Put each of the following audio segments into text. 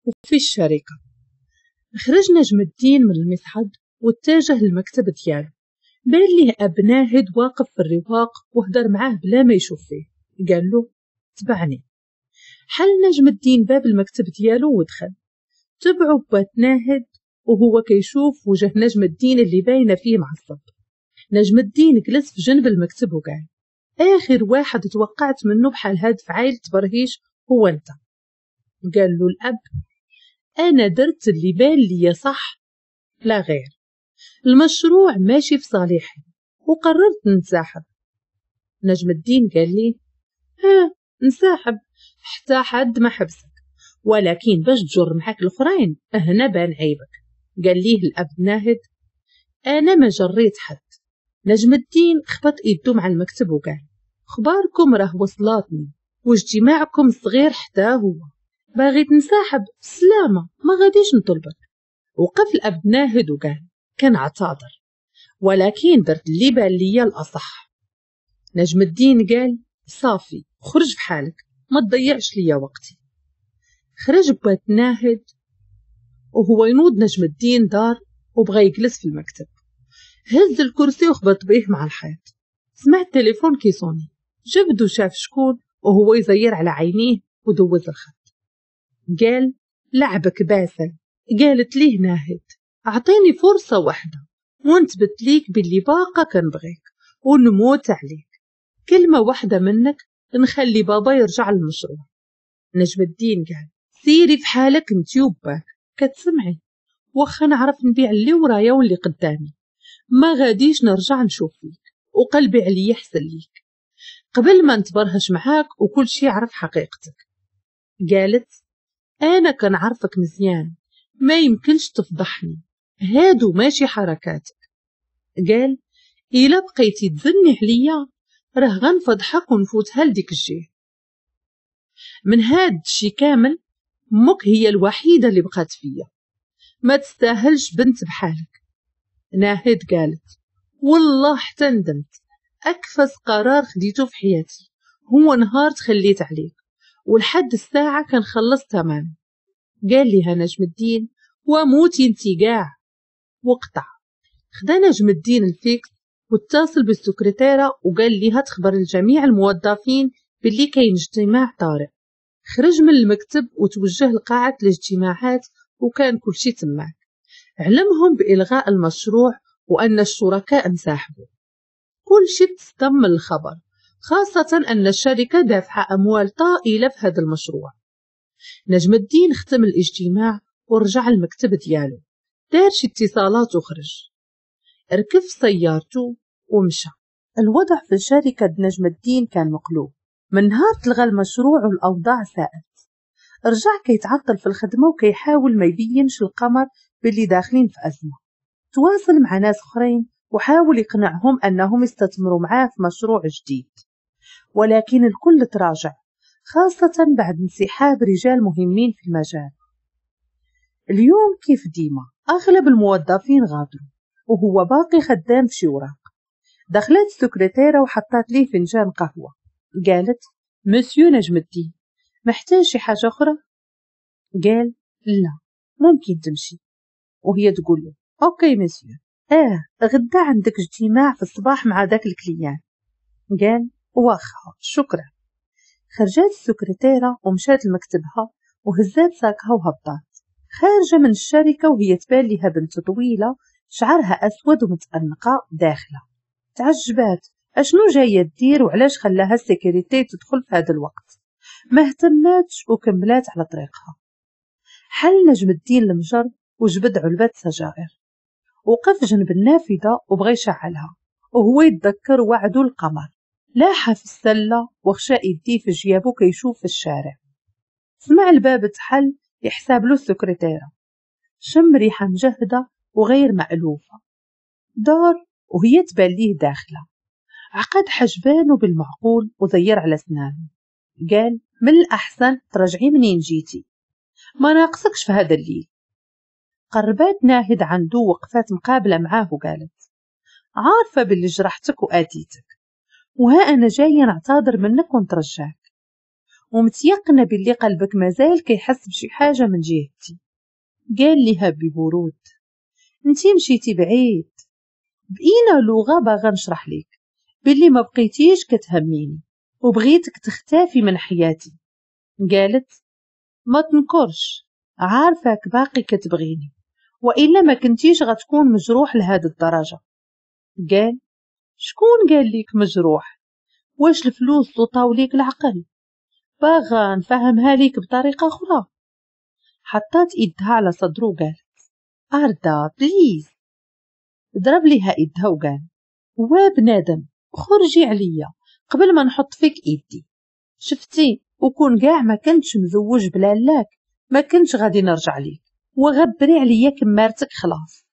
وفي الشركة. خرج نجم الدين من المصعد واتجه للمكتب ديالو. بان ليه أب ناهد واقف في الرواق وهدر معاه بلا ما يشوف فيه. قال له تبعني. حل نجم الدين باب المكتب ديالو ودخل. تبعو بات ناهد وهو كيشوف وجه نجم الدين اللي باينة فيه معصب. نجم الدين جلس في جنب المكتب وقال آخر واحد توقعت منه بحال هاد فعايل تبرهيش هو أنت. قال له الأب أنا درت اللي بان لي صح لا غير، المشروع ماشي في صالحي وقررت ننسحب. نجم الدين قال لي ها نسحب حتى حد ما حبسك، ولكن باش تجر معاك الأخرين هنا بان عيبك. قال ليه الأب ناهد أنا ما جريت حد. نجم الدين خبط إيدو مع المكتب وقال خباركم راه وصلاتني واجتماعكم صغير حتى هو، باغي تنسحب سلامة ما غاديش نطلبك. وقف الأب ناهد وقال كنعتذر ولكن درت اللي بان ليا الأصح. نجم الدين قال صافي خرج بحالك ما تضيعش ليا وقتي. خرج بات ناهد وهو ينوض نجم الدين دار وبغى يجلس في المكتب. هز الكرسي وخبط بيه مع الحيط. سمع التليفون كيصوني، جبد وشاف شكون وهو يزير على عينيه ودوز الخط. قال لعبك باسل. قالت ليه ناهد اعطيني فرصة واحدة ونثبت ليك باللي باقا كنبغيك ونموت عليك، كلمة واحدة منك نخلي بابا يرجع للمشروع. نجم الدين قال سيري في حالك انتي وباك كتسمعي، واخا نعرف نبيع اللي ورايا واللي قدامي ما غاديش نرجع نشوف فيك وقلبي عليا حسن ليك قبل ما نتبرهش معاك وكل شي يعرف حقيقتك. قالت انا كنعرفك مزيان ما يمكنش تفضحني، هادو ماشي حركاتك. قال إلا بقيتي تزني عليا راه غنفضحك ونفوتها لديك الجهة. من هاد الشي كامل امك هي الوحيدة اللي بقات فيا، ما تستاهلش بنت بحالك. ناهد قالت والله حتى ندمت، أكفس قرار خديته في حياتي هو نهار تخليت عليك ولحد الساعة كنخلص تمام. قال لها نجم الدين وموتي انتي قاع، وقطع. خدا نجم الدين الفيكس واتصل بالسكرتيرة وقال لها تخبر الجميع الموظفين باللي كاين اجتماع طارئ. خرج من المكتب وتوجه لقاعة الاجتماعات وكان كل شي تماك. علمهم بإلغاء المشروع وأن الشركاء انسحبوا. كل شي تصدم من الخبر، خاصة أن الشركة دافعة أموال طائلة في هذا المشروع. نجم الدين ختم الاجتماع ورجع المكتب ديالو، دار شي اتصالات وخرج، ركب سيارته ومشى. الوضع في شركة نجم الدين كان مقلوب. من نهار تلغى المشروع والأوضاع ساءت. رجع كيتعطل في الخدمة وكيحاول ما يبينش القمر باللي داخلين في أزمة. تواصل مع ناس أخرين وحاول يقنعهم أنهم يستثمروا معاه في مشروع جديد، ولكن الكل تراجع، خاصة بعد انسحاب رجال مهمين في المجال. اليوم كيف ديما أغلب الموظفين غادروا وهو باقي خدام في شي وراق. دخلت السكرتيرة وحطت ليه فنجان قهوة. قالت مسيو نجم الدين محتاج شي حاجة أخرى؟ قال لا ممكن تمشي. وهي تقول له OK monsieur، غدا عندك اجتماع في الصباح مع ذاك ال client. قال واخا شكرا. خرجت السكرتيرة ومشات لمكتبها وهزات ساكها وهبطات. خارجة من الشركة وهي تبان لها بنت طويلة شعرها أسود ومتأنقة داخلة. تعجبات أشنو جاية دير وعلاش خلاها ال sécurité تدخل في هذا الوقت. ما اهتماتش وكملات على طريقها. حل نجم الدين المجر وجبد علبة سجائر، وقف جنب النافذة وبغى يشعلها وهو يتذكر وعده القمر. لاحها في السلة وخشى يديه في جيابو كيشوف في الشارع. سمع الباب تحل يحسب له السكرتيرة. شم ريحة مجهدة وغير مألوفة. دار وهي تبان ليه داخلة. عقد حجبانه بالمعقول وزير على سنانه. قال من الأحسن ترجعي منين جيتي، ما ناقصكش في هذا الليل. قربات ناهد عنده وقفات مقابلة معاه وقالت عارفة باللي جرحتك وآتيتك، وها أنا جاية نعتذر منك ونترجاك، ومتيقنة باللي قلبك مازال كيحس بشي حاجة من جهتي. قال لها ببرود انتي مشيتي بعيد، بإينا لغة باغا نشرح ليك باللي ما بقيتيش كتهميني وبغيتك تختفي من حياتي. قالت ما تنكرش، عارفاك باقي كتبغيني وإلا ما كنتيش غتكون مجروح لهاد الدرجة. قال شكون قال ليك مجروح؟ واش الفلوس لطاو ليك العقل؟ باغا نفهمها ليك بطريقة أخرى. حطات إيدها على صدره وقالت أردا please. ضرب ليها إيدها وقال وبنادم خرجي عليا قبل ما نحط فيك إيدي، شفتي وكون كاع ما كنتش مزوج بلالاك ما كنتش غادي نرجع ليك، وغبري عليا كمارتك خلاص.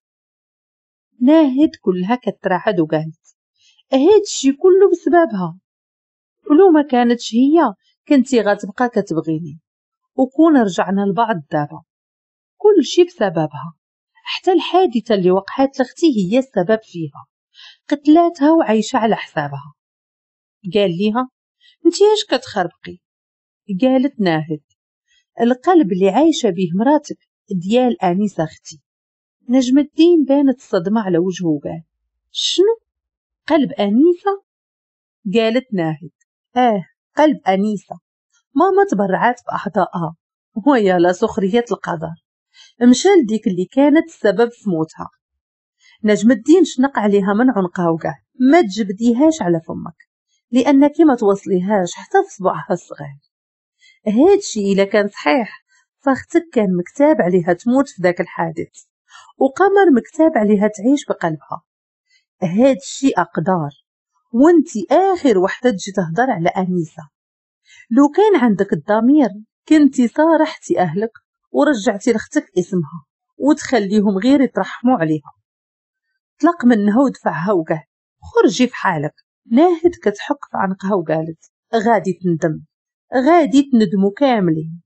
ناهد كلها كترعد وقالت هادشي كله بسببها، ولو ما كانتش هي كنتي غتبقى كتبغيني وكون رجعنا لبعض دابا. كل شي بسببها، حتى الحادثة اللي وقعت لختي هي السبب فيها، قتلاتها وعايشة على حسابها. قال ليها انتي اش كتخربقي؟ قالت ناهد القلب اللي عايشة به مراتك ديال أنيسة اختي. نجم الدين بانت الصدمة على وجهه وقال شنو؟ قلب أنيسة؟ قالت ناهد قلب أنيسة، ماما تبرعات بأعضائها ويا لا سخرية القدر، مشى لديك اللي كانت السبب في موتها. نجم الدين شنق عليها من عنقها وقال ما تجبديهاش على فمك لأنك ما توصليهاش حتى في صبعها الصغير. هادشي إلا كان صحيح فاختك كان مكتاب عليها تموت في ذاك الحادث، وقمر مكتاب عليها تعيش بقلبها. هادشي أقدار، وانتي آخر وحدة تجي تهضر على أنيسة. لو كان عندك الضمير كنتي صارحتي أهلك ورجعتي لختك اسمها وتخليهم غير يترحموا عليها. طلق منها ودفعها وقال خرجي في حالك. ناهد كتحك في عنقها وقالت غادي تندم، غادي تندموا كاملين،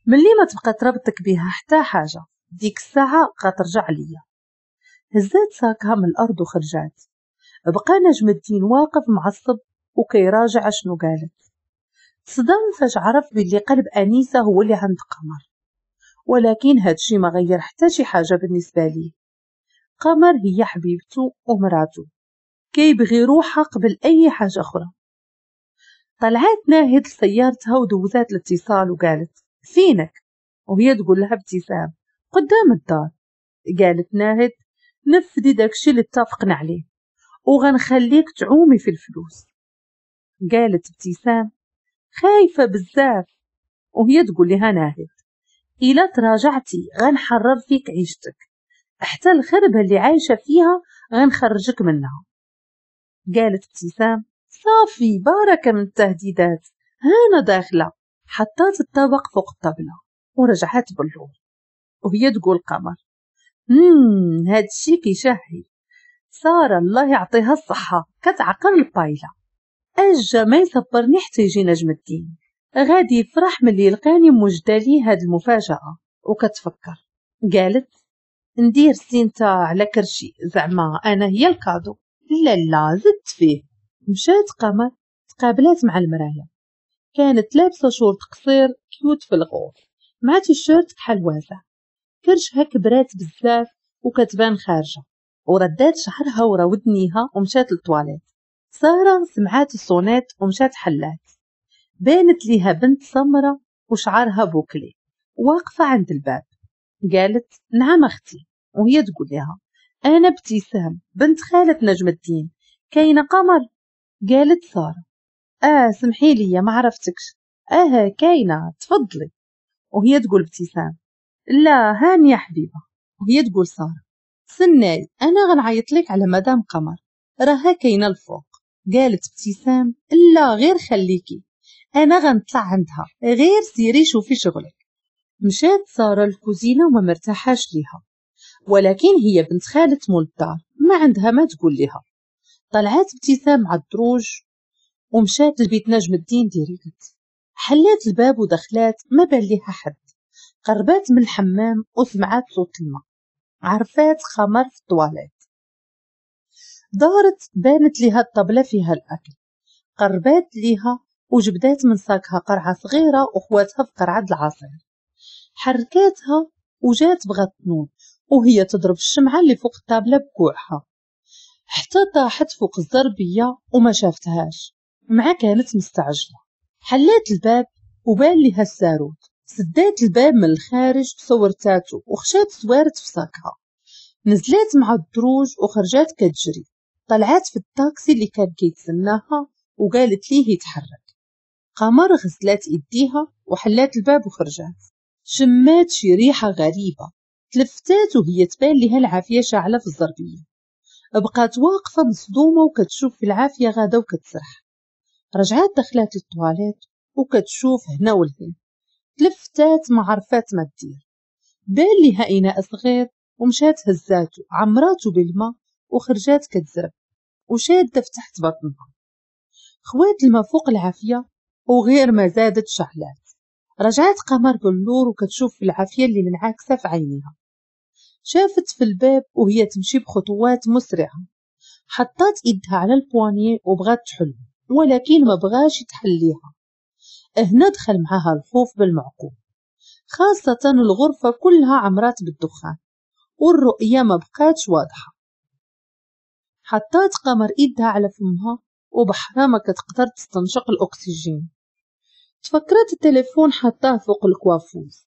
ملي ما تبقى تربطك بها حتى حاجة ديك الساعة غترجع ليا. هزات ساكها من الأرض وخرجات. بقى نجم الدين واقف معصب وكيراجع شنو قالت. تصدم فاش عرف باللي قلب أنيسة هو اللي عند قمر، ولكن هادشي ما غير حتى شي حاجة بالنسبة ليه. قمر هي حبيبته ومراته، كيبغي روحها قبل أي حاجة أخرى. طلعت ناهد لسيارتها ودوزات الاتصال وقالت فينك؟ وهي تقول لها ابتسام قدام الدار. قالت ناهد نفذي داكشي اللي اتفقنا عليه وغنخليك تعومي في الفلوس. قالت ابتسام خايفة بزاف، وهي تقول لها ناهد إلا تراجعتي غنحرر فيك عيشتك، حتى الخربة اللي عايشة فيها غنخرجك منها. قالت ابتسام صافي باركة من التهديدات، هانا داخلة. حطات الطبق فوق الطبلة ورجعت باللور وهي تقول قمر هادشي كيشهي، سارة الله يعطيها الصحة كتعقل البايلة، أجا ما يصبرني حتى يجي نجم الدين، غادي يفرح ملي يلقاني موجدة ليه هاد المفاجأة. وكتفكر قالت ندير سينتا على كرشي زعما أنا هي ال cadeau، لا لا زدت فيه. مشات قمر تقابلات مع المراية، كانت لابسة شورت قصير cute في ال rose مع تيشيرت بحال واسع، كرشها كبرات بزاف وكتبان خارجة، وردات شعرها ورا ودنيها ومشات للطواليت. سارة سمعات ال sonnette ومشات حلات، بانت ليها بنت سمرة وشعرها bouclé واقفة عند الباب. قالت نعم أختي، وهي تقول لها أنا ابتسام بنت خالة نجم الدين، كاينة قمر؟ قالت سارة سمحي لي ما عرفتكش، كاينة تفضلي. وهي تقول ابتسام لا هاني يا حبيبة. وهي تقول سارة سناي أنا غنعيط لك على مدام قمر راها كاينة الفوق. قالت ابتسام لا غير خليكي أنا غنطلع عندها، غير سيري شوفي شغلك. مشات سارة الكوزينة وما مرتاحاش ليها، ولكن هي بنت خالة مول الدار ما عندها ما تقول لها. طلعت ابتسام على الدروج ومشات لبيت نجم الدين direct، حلات الباب ودخلات ما بان ليها حد. قربات من الحمام وسمعات صوت الماء، عرفات خمر في الطواليت. دارت بانت ليها الطبلة فيها الأكل، قربات ليها وجبدات من ساكها قرعه صغيرة وخواتها في قرعه العصير. حركاتها وجات بغات تنوض وهي تضرب الشمعة اللي فوق الطابله بكوعها حتى طاحت فوق الزربيه وما شافتهاش، مع كانت مستعجلة. حلات الباب وبان لها الساروت، سدات الباب من الخارج بصورتاتو وخشات سوارت في ساكها. نزلات مع الدروج وخرجات كتجري، طلعات في الطاكسي اللي كان كيتسناها وقالت ليه يتحرك. قمر غسلات ايديها وحلات الباب وخرجات. شمات شي ريحه غريبة، تلفتات وهي تبان لها العافية شاعله في الزربيه. بقات واقفة مصدومة وكتشوف في العافية غاده وكتسرح. رجعات دخلات للطواليت وكتشوف هنا ولهنا، تلفتات ما عرفات ما دير. بان لها اناء صغير ومشات هزاتو عمراتو بالماء وخرجات كتزرب وشاده في تحت بطنها. خوات الماء فوق العافية وغير ما زادت شعلات. رجعت قمر بالنور وكتشوف في العافية اللي منعكسه في عينيها. شافت في الباب وهي تمشي بخطوات مسرعة. حطات ايدها على ال poignée وبغات تحل، ولكن ما بغاش يتحليها. هنا دخل معاها الخوف بالمعقول، خاصة الغرفة كلها عمرات بالدخان والرؤية ما بقاتش واضحة. حطات قمر ايدها على فمها وبحرها ما كتقدر تستنشق الأكسجين. تفكرت التليفون حطاه فوق ال coiffeuse،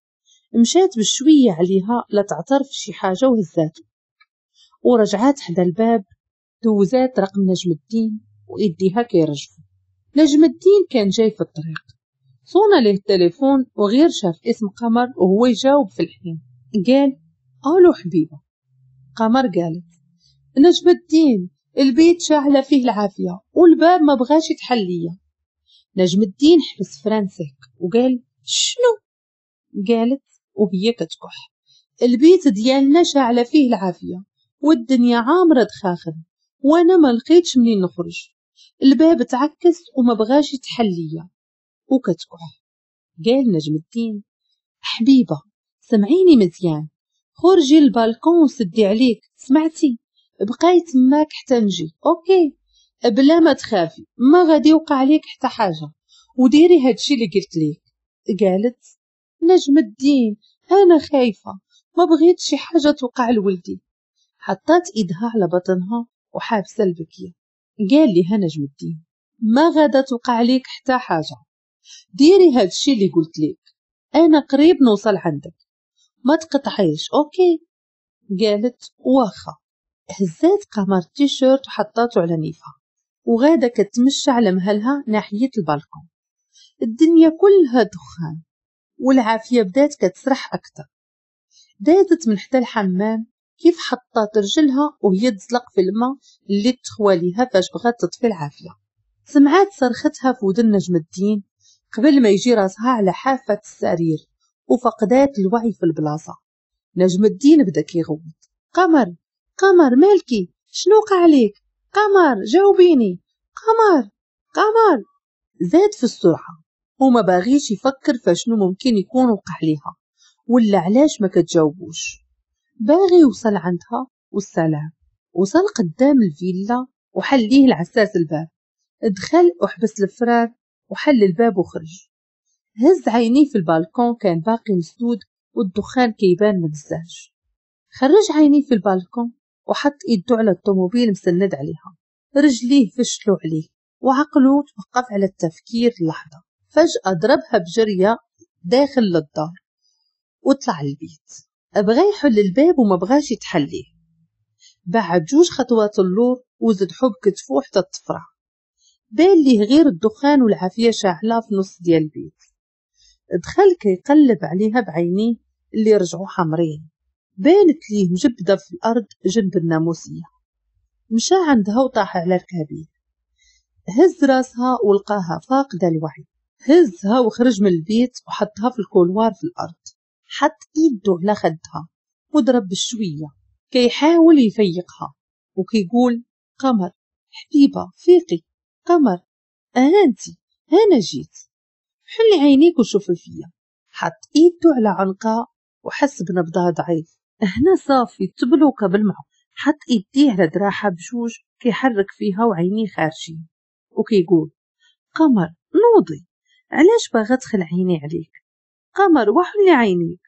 مشات بشوية عليها لا تعترف شي حاجة وهزاتو. ورجعات حدا الباب، دوزات رقم نجم الدين وإيديها كيرجفو. نجم الدين كان جاي في الطريق، صونا ليه التليفون وغير شاف اسم قمر وهو يجاوب في الحين. قال الو حبيبه. قمر قالت نجم الدين البيت شاعله فيه العافية والباب ما بغاش يتحل ليا. نجم الدين حبس frein sec وقال شنو؟ قالت وهي كتكح البيت ديالنا شاعله فيه العافية والدنيا عامرة دخاخن وانا ما لقيتش منين نخرج، الباب تعكس وما بغاش يتحل ليا وكتكح. قال نجم الدين حبيبه سمعيني مزيان، خرجي البالكون وسدي عليك، سمعتي؟ بقاي تماك حتى نجي، OK؟ بلا ما تخافي ما غادي يوقع عليك حتى حاجة، وديري هادشي اللي قلت ليك. قالت نجم الدين انا خايفة ما بغيت شي حاجة توقع لولدي. حطات ايدها على بطنها وحابسه البكيه. قال لها نجم الدين ما غادا توقع عليك حتى حاجة، ديري هادشي اللي قلت لك، انا قريب نوصل عندك، ما تقطعيش، OK؟ قالت واخا. هزات قمر التيشيرت وحطاتو على نيفها وغاده كتمشى على مهلها ناحية البالكون. الدنيا كلها دخان والعافية بدات كتسرح اكثر. دازت من حدا الحمام كيف حطات رجلها وهي تزلق في الماء اللي تخوى ليها فاش بغات تطفي العافية. سمعات صرختها في ودن نجم الدين قبل ما يجي راسها على حافة السرير وفقدات الوعي في البلاصة. نجم الدين بدا كيغوت قمر قمر مالكي، شنو وقع عليك؟ قمر جاوبيني، قمر قمر. زاد في السرعة وما باغيش يفكر فشنو ممكن يكون وقع ليها ولا علاش ما كتجاوبوش. باغي يوصل عندها والسلام. وصل قدام الفيلا وحل ليه العساس الباب. دخل وحبس الفرار وحل الباب وخرج. هز عينيه في البالكون كان باقي مسدود والدخان كيبان من الزاج. خرج عينيه في البالكون وحط ايده على الطوموبيل مسند عليها. رجليه فشلوا عليه وعقله توقف على التفكير لحظة. فجأة ضربها بجرية داخل للدار وطلع البيت. بغى يحل الباب وما بغاش يتحليه. بعد جوج خطوات اللور وزدحو بكتفو حتى تفرع. بان ليه غير الدخان والعافية شاعلة في نص ديال البيت. دخل كيقلب عليها بعينيه اللي رجعوا حمرين. بانت ليه مجبدة في الأرض جنب الناموسية. مشى عندها وطاح على ركابيه. هز راسها ولقاها فاقدة الوعي. هزها وخرج من البيت وحطها في ال couloir في الأرض. حط ايده على خدها وضرب بشوية كيحاول يفيقها وكيقول قمر حبيبة فيقي، قمر أنتي أنا جيت، حلي عينيك وشوفي فيا. حط ايده على عنقها وحس بنبضها ضعيف. هنا صافي تبلوكه بالمعقول. حط ايديه على دراعها بجوج كيحرك فيها وعينيه خارجين وكيقول قمر نوضي، علاش باغا تخلعيني عليك؟ قمر وحلي عينيك،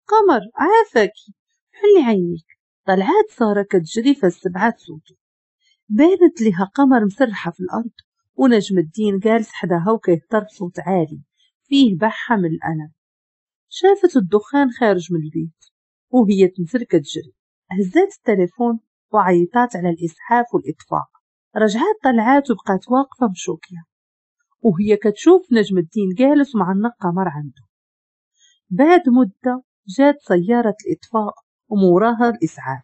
قمر عافاكي حلي عينيك. طلعات سارة كتجري فالسبعات صوتو. بانت لها قمر مسرحة في الأرض ونجم الدين جالس حداها وكيهضر بصوت عالي فيه بحة من الألم. شافت الدخان خارج من البيت وهي تنزل كتجري، هزات التليفون وعيطات على الإسعاف والإطفاء. رجعات طلعات وبقات واقفة مشوكية وهي كتشوف نجم الدين جالس معنق قمر عنده. بعد مدة جات سيارة الإطفاء وموراها الإسعاف.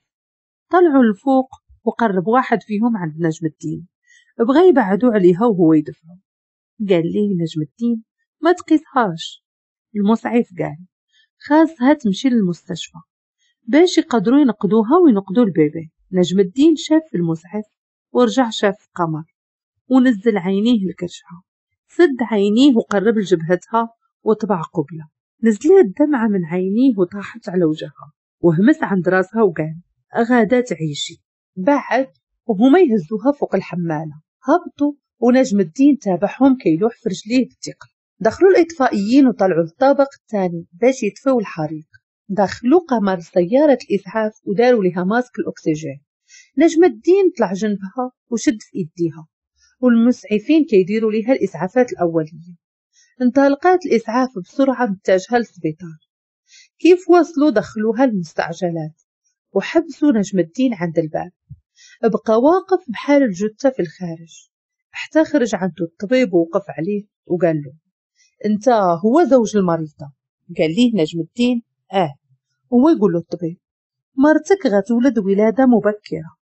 طلعوا لفوق وقرب واحد فيهم عند نجم الدين، بغى يبعدوا عليها وهو يدفعه. قال ليه نجم الدين ما تقيسهاش. المسعف قال خاصها تمشي للمستشفى باش يقدروا ينقذوها وينقذوا البيبي. نجم الدين شاف في المسعف ورجع شاف في قمر ونزل عينيه لكرشها، سد عينيه وقرب لجبهتها وطبع قبلة. نزلت دمعة من عينيه وطاحت على وجهها وهمس عند راسها وقال غادا تعيشي. بعد وهما يهزوها فوق الحمالة. هبطوا ونجم الدين تابعهم كيلوح في رجليه بالثقل. دخلوا الإطفائيين وطلعوا للطابق الثاني باش يطفئوا الحريق. دخلوا قمر سيارة الإسعاف وداروا لها ماسك الأكسجين. نجم الدين طلع جنبها وشد في إيديها والمسعفين كيديروا لها الإسعافات الأولية. انطلقات الإسعاف بسرعة متجهة للسبيطار. كيف وصلوا دخلوها المستعجلات وحبسوا نجم الدين عند الباب. بقى واقف بحال الجثة في الخارج حتى خرج عنده الطبيب ووقف عليه وقال له انت هو زوج المريضة؟ قال ليه نجم الدين اه. هو يقول له الطبيب مرتك غتولد ولادة مبكرة،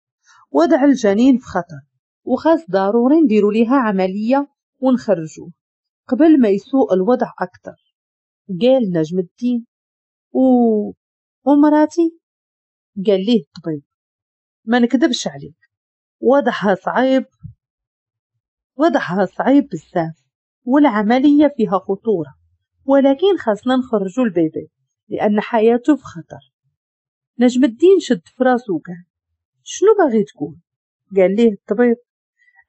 وضع الجنين في خطر وخاص ضروري نديروا ليها عملية ونخرجوه قبل ما يسوء الوضع أكثر. قال نجم الدين ومراتي؟ قال ليه الطبيب ما نكذبش عليك، وضعها صعيب، وضعها صعيب بزاف والعملية فيها خطورة، ولكن خاصنا نخرجوا البيبي لأن حياته في خطر. نجم الدين شد في راسو وقال شنو باغي تقول؟ قال ليه الطبيب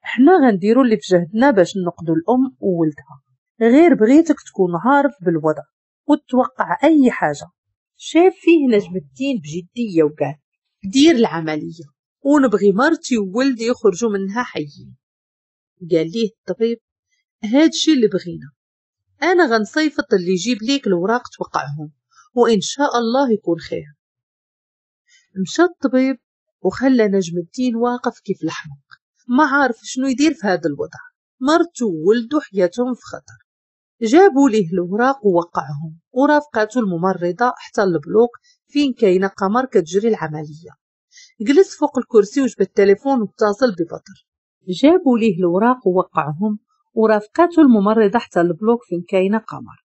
احنا غنديرو اللي في جهدنا باش ننقذوا الأم وولدها، غير بغيتك تكون عارف بالوضع وتتوقع أي حاجة. شاف فيه نجم الدين بجدية وقال دير العملية ونبغي مرتي وولدي يخرجوا منها حيين. قال ليه الطبيب هادشي اللي بغينا، أنا غنصيفط اللي يجيب ليك الوراق توقعهم وإن شاء الله يكون خير. مشى الطبيب وخلى نجم الدين واقف كيف الحمق، ما عارف شنو يدير في هذا الوضع، مرته وولده حياتهم في خطر. جابوا ليه الوراق ووقعهم ورافقاته الممرضة حتى ال bloc فين كاينة قمر كتجري العملية. جلس فوق الكرسي وجبد التليفون واتصل ببدر. جابوا ليه الوراق ووقعهم ورافقاته الممرضة حتى ال bloc فين كاينة قمر.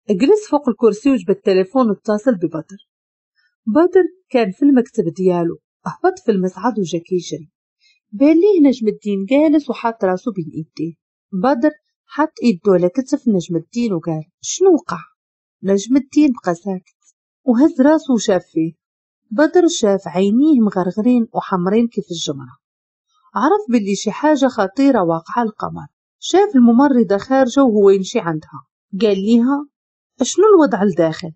جلس فوق الكرسي وجبد التليفون واتصل ببدر. بدر كان في المكتب ديالو، هبط في المصعد وجا كيجري. بان ليه نجم الدين جالس وحاط راسو بين ايديه. بدر حط ايدو على كتف نجم الدين وقال شنو وقع؟ نجم الدين بقى ساكت وهز راسو وشاف فيه. بدر شاف عينيه مغرغرين وحمرين كيف الجمرة، عرف باللي شي حاجة خطيرة واقعة للقمر. شاف الممرضة خارجة وهو يمشي عندها، قال ليها شنو الوضع لداخل؟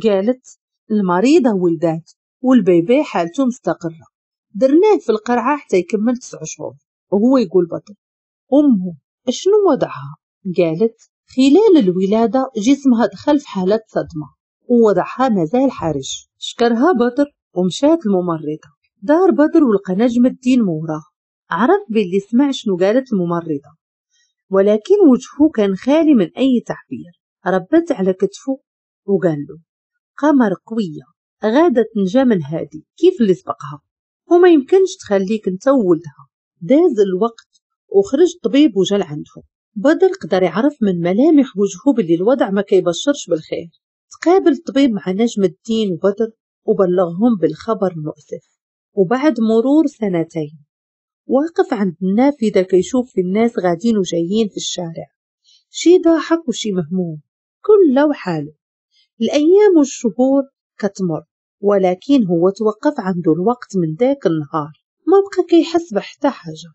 قالت المريضة ولدات والبيبي حالته مستقرة، درناه في القرعة حتى يكمل 9 شهور. وهو يقول بدر أمه شنو وضعها؟ قالت خلال الولادة جسمها دخل في حالة صدمة ووضعها مازال حرج. شكرها بدر ومشات الممرضة. دار بدر ولقى نجم الدين موراه، عرف باللي سمع شنو قالت الممرضة، ولكن وجهه كان خالي من أي تعبير. ربت على كتفه وقال له قمر قوية غادة تنجا من هادي كيف اللي سبقها، وما يمكنش تخليك انت وولدها. داز الوقت وخرج الطبيب وجا لعندهم. بدر قدر يعرف من ملامح وجهه باللي الوضع ما كيبشرش بالخير. تقابل الطبيب مع نجم الدين وبدر وبلغهم بالخبر المؤسف. وبعد مرور 2 سنين واقف عند النافذة كيشوف في الناس غادين وجايين في الشارع، شي ضاحك وشي مهموم، كل وحاله. الأيام والشهور كتمر، ولكن هو توقف عنده الوقت من ذاك النهار، ما بقى كيحس بحتى حاجة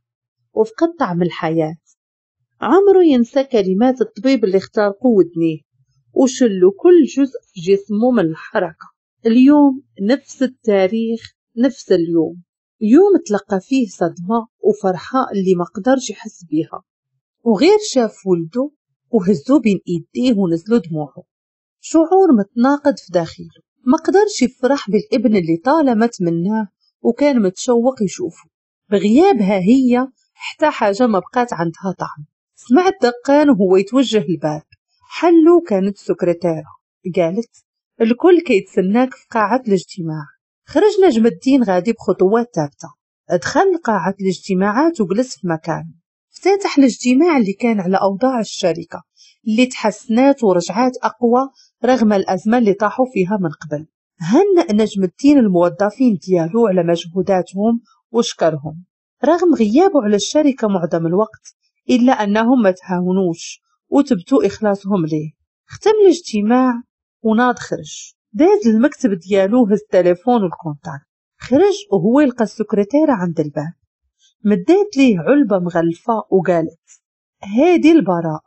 وفقد طعم الحياة. عمره ينسى كلمات الطبيب اللي اخترقوا ودنيه وشلوا كل جزء في جسمه من الحركة. اليوم نفس التاريخ، نفس اليوم، يوم تلقى فيه صدمة وفرحة اللي ما قدرش يحس بيها، وغير شاف ولده وهزو بين ايديه ونزلوا دموعه. شعور متناقض في داخله، ما قدرش يفرح بالابن اللي طالما تمناه وكان متشوق يشوفه. بغيابها هي حتى حاجة ما بقات عندها طعم. سمع الدقان وهو يتوجه الباب، حلو كانت السكرتيرة، قالت الكل كيتسناك في قاعة الاجتماع. خرج نجم الدين غادي بخطوات ثابتة، دخل قاعة الاجتماعات وجلس في مكانه. افتتح الاجتماع اللي كان على أوضاع الشركة اللي تحسنات ورجعات أقوى رغم الأزمة اللي طاحوا فيها من قبل. هنأ نجم الدين الموظفين ديالو على مجهوداتهم وشكرهم رغم غيابه على الشركة معظم الوقت، إلا أنهم ما تهاونوش وتبتوا إخلاصهم ليه. ختم الاجتماع وناض خرج، داز المكتب ديالو، هز التليفون وال contact، خرج وهو يلقى السكرتيرة عند الباب، مدات ليه علبة مغلفة وقالت هادي البراء،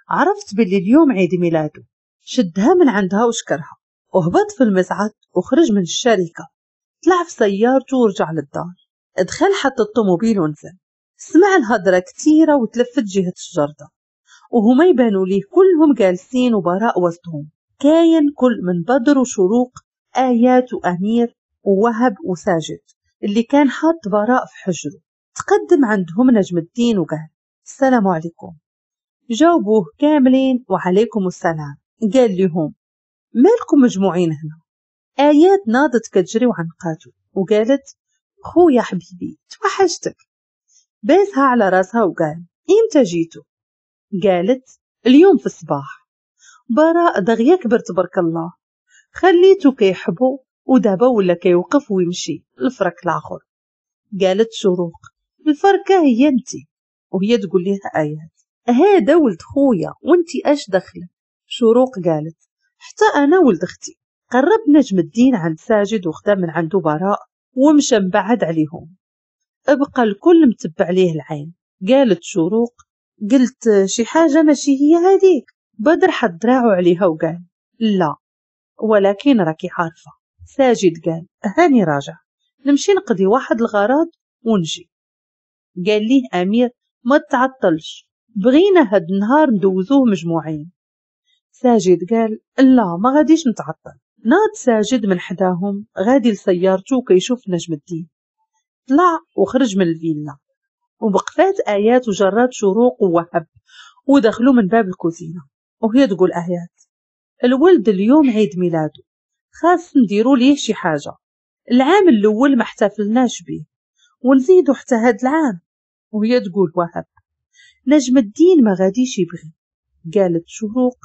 عرفت باللي اليوم عيد ميلاده. شدها من عندها وشكرها وهبط في المصعد وخرج من الشركة، طلع في سيارته ورجع للدار. دخل حط الطوموبيل ونزل، سمع الهضرة كتيرة وتلفت جهة الجردة وهما يبانوا ليه كلهم جالسين وبراء وسطهم. كاين كل من بدر وشروق، آيات وأمير ووهب وساجد اللي كان حاط براء في حجره. تقدم عندهم نجم الدين وقال السلام عليكم. جاوبوه كاملين وعليكم السلام. قال لهم مالكم مجموعين هنا؟ آيات ناضت كتجري وعنقاتو وقالت خويا حبيبي توحشتك. باسها على راسها وقال امتى جيتو؟ قالت اليوم في الصباح. براء دغيا كبر تبارك الله، خليتو كيحبو ودابا ولا كيوقف ويمشي الفرك الاخر. قالت شروق الفركه هي انتي، وهي تقول لها آيات هذا ولد خويا وانتي اش دخلك؟ شروق قالت حتى انا ولد اختي. قرب نجم الدين عند ساجد وخدا من عنده براء ومشى مبعد عليهم. ابقى الكل متبع ليه العين. قالت شروق قلت شي حاجه ماشي هي هذيك. بدر حط دراعو عليها وقال لا ولكن راكي عارفه. ساجد قال هاني راجع نمشي نقضي واحد الغرض ونجي. قال ليه امير ما تعطلش، بغينا هاد النهار ندوزوه مجموعين. ساجد قال لا ما غاديش نتعطل. ناض ساجد من حداهم غادي لسيارته كيشوف نجم الدين. طلع وخرج من الفيلا وبقفات آيات وجرات شروق ووهب ودخلوا من باب الكوزينة. وهي تقول آيات الولد اليوم عيد ميلاده، خاص نديرو ليه شي حاجة. العام الأول ما احتفلناش بيه ونزيدو حتى هاد العام. وهي تقول وهب نجم الدين ما غاديش يبغي. قالت شروق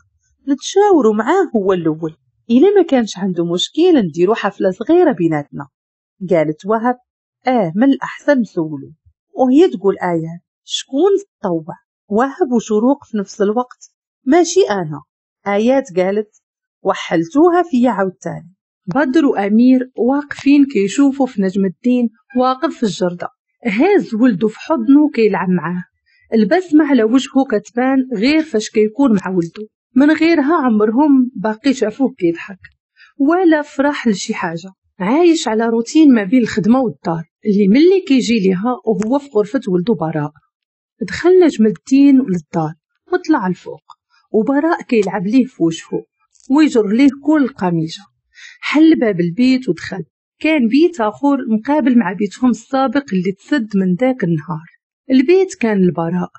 نتشاوروا معاه هو الأول، إلا ما كانش عنده مشكل نديرو حفلة صغيرة بيناتنا. قالت وهب من الأحسن نسولو. وهي تقول آيات شكون تطوع؟ وهب وشروق في نفس الوقت ماشي أنا. آيات قالت وحلتوها فيا عاوتاني. بدر وأمير واقفين كيشوفوا في نجم الدين واقف في الجردة، هاز ولده في حضنه كيلعب معاه، البسمة على وجهه كتبان غير فاش كيكون مع ولده، من غيرها عمرهم باقي شافوه كيضحك ولا فرح لشي حاجة. عايش على روتين ما بين الخدمة والدار اللي ملي كيجي ليها وهو في غرفة ولده براء. دخل نجم الدين للدار وطلع الفوق وبراء كيلعب ليه في وجهه ويجر ليه كل القميجة. حل باب البيت ودخل، كان بيت آخر مقابل مع بيتهم السابق اللي تسد من ذاك النهار. البيت كان البراء،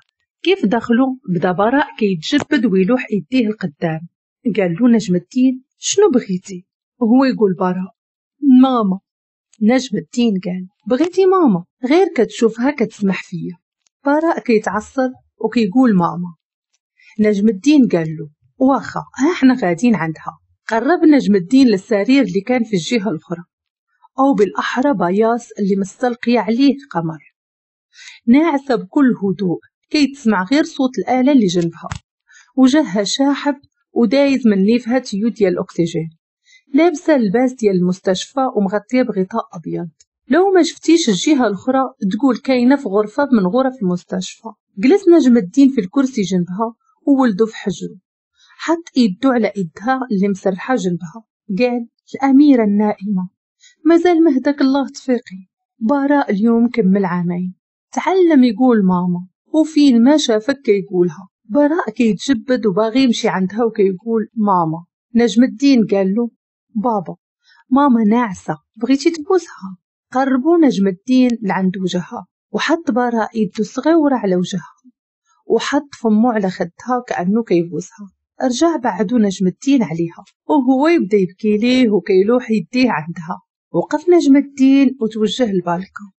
كيف دخلوا بدا براء كيتجبد ويلوح ايديه القدام. قال له نجم الدين شنو بغيتي؟ وهو يقول براء ماما. نجم الدين قال بغيتي ماما؟ غير كتشوفها كتسمح فيا. براء كيتعصب وكيقول ماما. نجم الدين قال له واخا ها احنا غاديين عندها. قرب نجم الدين للسرير اللي كان في الجهة الأخرى، أو بالأحرى بياص اللي مستلقية عليه قمر، ناعسة بكل هدوء كيتسمع غير صوت الآلة اللي جنبها، وجهها شاحب ودايز من نيفها tuyau ديال الأكسجين، لابسة اللباس ديال المستشفى ومغطية بغطاء أبيض. لو ما شفتيش الجهة الأخرى تقول كاينة في غرفة من غرف المستشفى. جلس نجم الدين في الكرسي جنبها وولده في حجره، حط ايدو على ايدها اللي مسرحة جنبها، قال الأميرة النائمة مازال مهدك الله تفيقي. براء اليوم كمل عامين، تعلم يقول ماما، وفين ما شافك كيقولها. براء كيتجبد وباغي يمشي عندها وكيقول ماما. نجم الدين قال له بابا ماما ناعسة، بغيتي تبوسها؟ قربوا نجم الدين لعند وجهها وحط براء يده الصغيرة على وجهها وحط فمه على خدها كأنه كيبوسها. رجع بعدو نجم الدين عليها وهو يبدا يبكي ليه وكيلوح يديه عندها. وقف نجم الدين وتوجه للبالكون،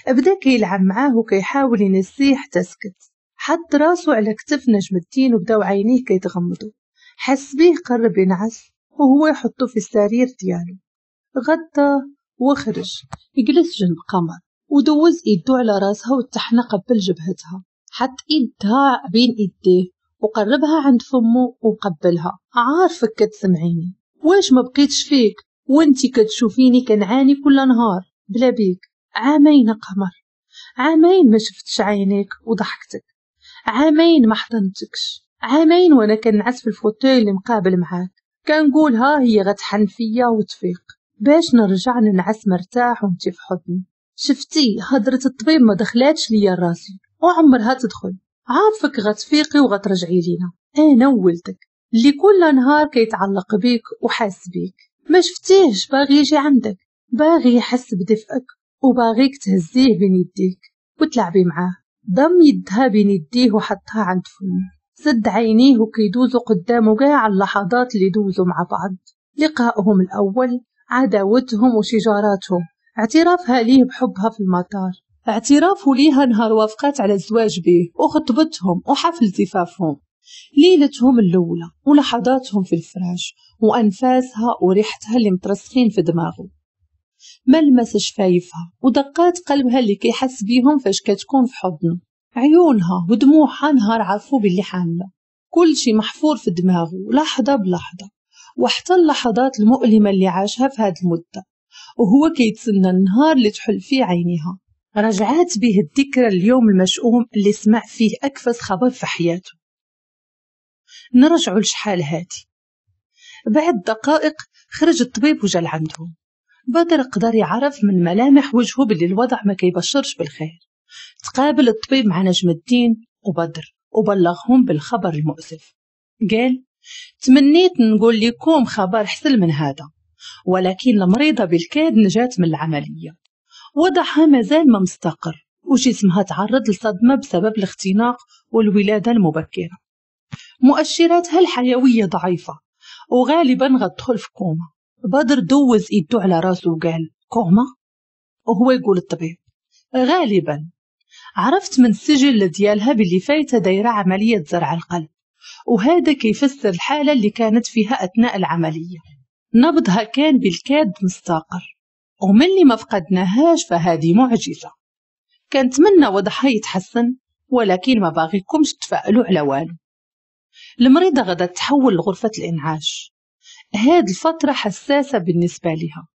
بدا كيلعب معاه وكيحاول ينسيه حتى سكت. حط راسو على كتف نجم الدين وبداو عينيه كيتغمضوا. حس بيه قرب ينعس وهو يحطو في السرير ديالو، غطاه وخرج. جلس جنب قمر ودوز ايدو على راسها وتحنى قبل جبهتها، حط ايدها بين ايديه وقربها عند فمه وقبلها. عارفك كتسمعيني، واش ما بقيتش فيك وانتي كتشوفيني كنعاني كل نهار بلا بيك؟ عامين قمر، عامين ما شفتش عينيك وضحكتك، عامين ما حضنتكش، عامين وانا كنعس في ال fauteuil اللي مقابل معاك، كنقول ها هي غتحن فيا وتفيق باش نرجع ننعس مرتاح وانتي في حضني. شفتي هضرة الطبيب ما دخلاتش ليا راسي وعمرها تدخل. عارفك غتفيقي وغترجعي لينا، انا وولدك اللي كل نهار كيتعلق بيك وحاس بيك. ما شفتيهش باغي يجي عندك، باغي يحس بدفئك وباغيك تهزيه بين يديك وتلعبي معاه. ضم يدها بين يديه وحطها عند فمه، سد عينيه وكيدوزو قدامه كاع اللحظات اللي دوزو مع بعض، لقائهم الأول، عداوتهم وشجاراتهم، اعترافها ليه بحبها في المطار، اعترافه ليها نهار وافقات على الزواج به وخطبتهم وحفل زفافهم، ليلتهم الأولى ولحظاتهم في الفراش وأنفاسها وريحتها اللي مترسخين في دماغه، ملمس شفايفها ودقات قلبها اللي كيحس بيهم فاش كتكون في حضنه، عيونها ودموعها نهار عرفوا باللي حامله. كل شي محفور في دماغه لحظة بلحظة، وحتى اللحظات المؤلمة اللي عاشها في هذه المدة وهو كيتسنى النهار اللي تحل فيه عينيها. رجعات به الذكرى اليوم المشؤوم اللي سمع فيه أكفس خبر في حياته. نرجعوا لشحال هادي. بعد دقائق خرج الطبيب وجا لعندهم. بدر قدر يعرف من ملامح وجهه باللي الوضع ما كيبشرش بالخير. تقابل الطبيب مع نجم الدين وبدر وبلغهم بالخبر المؤسف. قال تمنيت نقول لكم خبر حسن من هذا، ولكن المريضة بالكاد نجات من العملية، وضعها مازال ما مستقر وجسمها تعرض لصدمة بسبب الاختناق والولادة المبكرة، مؤشراتها الحيوية ضعيفة وغالبا غتدخل في كوما. بدر دوز ايدو على راسه وقال كوما؟ وهو يقول الطبيب غالبا. عرفت من السجل ديالها باللي فايتة دايرة عملية زرع القلب، وهذا كيفسر الحالة اللي كانت فيها أثناء العملية. نبضها كان بالكاد مستقر، وملي ما فقدناهاش فهذه معجزة. كنتمنى وضعها يتحسن، ولكن ما باغيكمش تفائلوا على والو. المريضة غدا تحول لغرفة الإنعاش. هاد الفترة حساسة بالنسبة لها،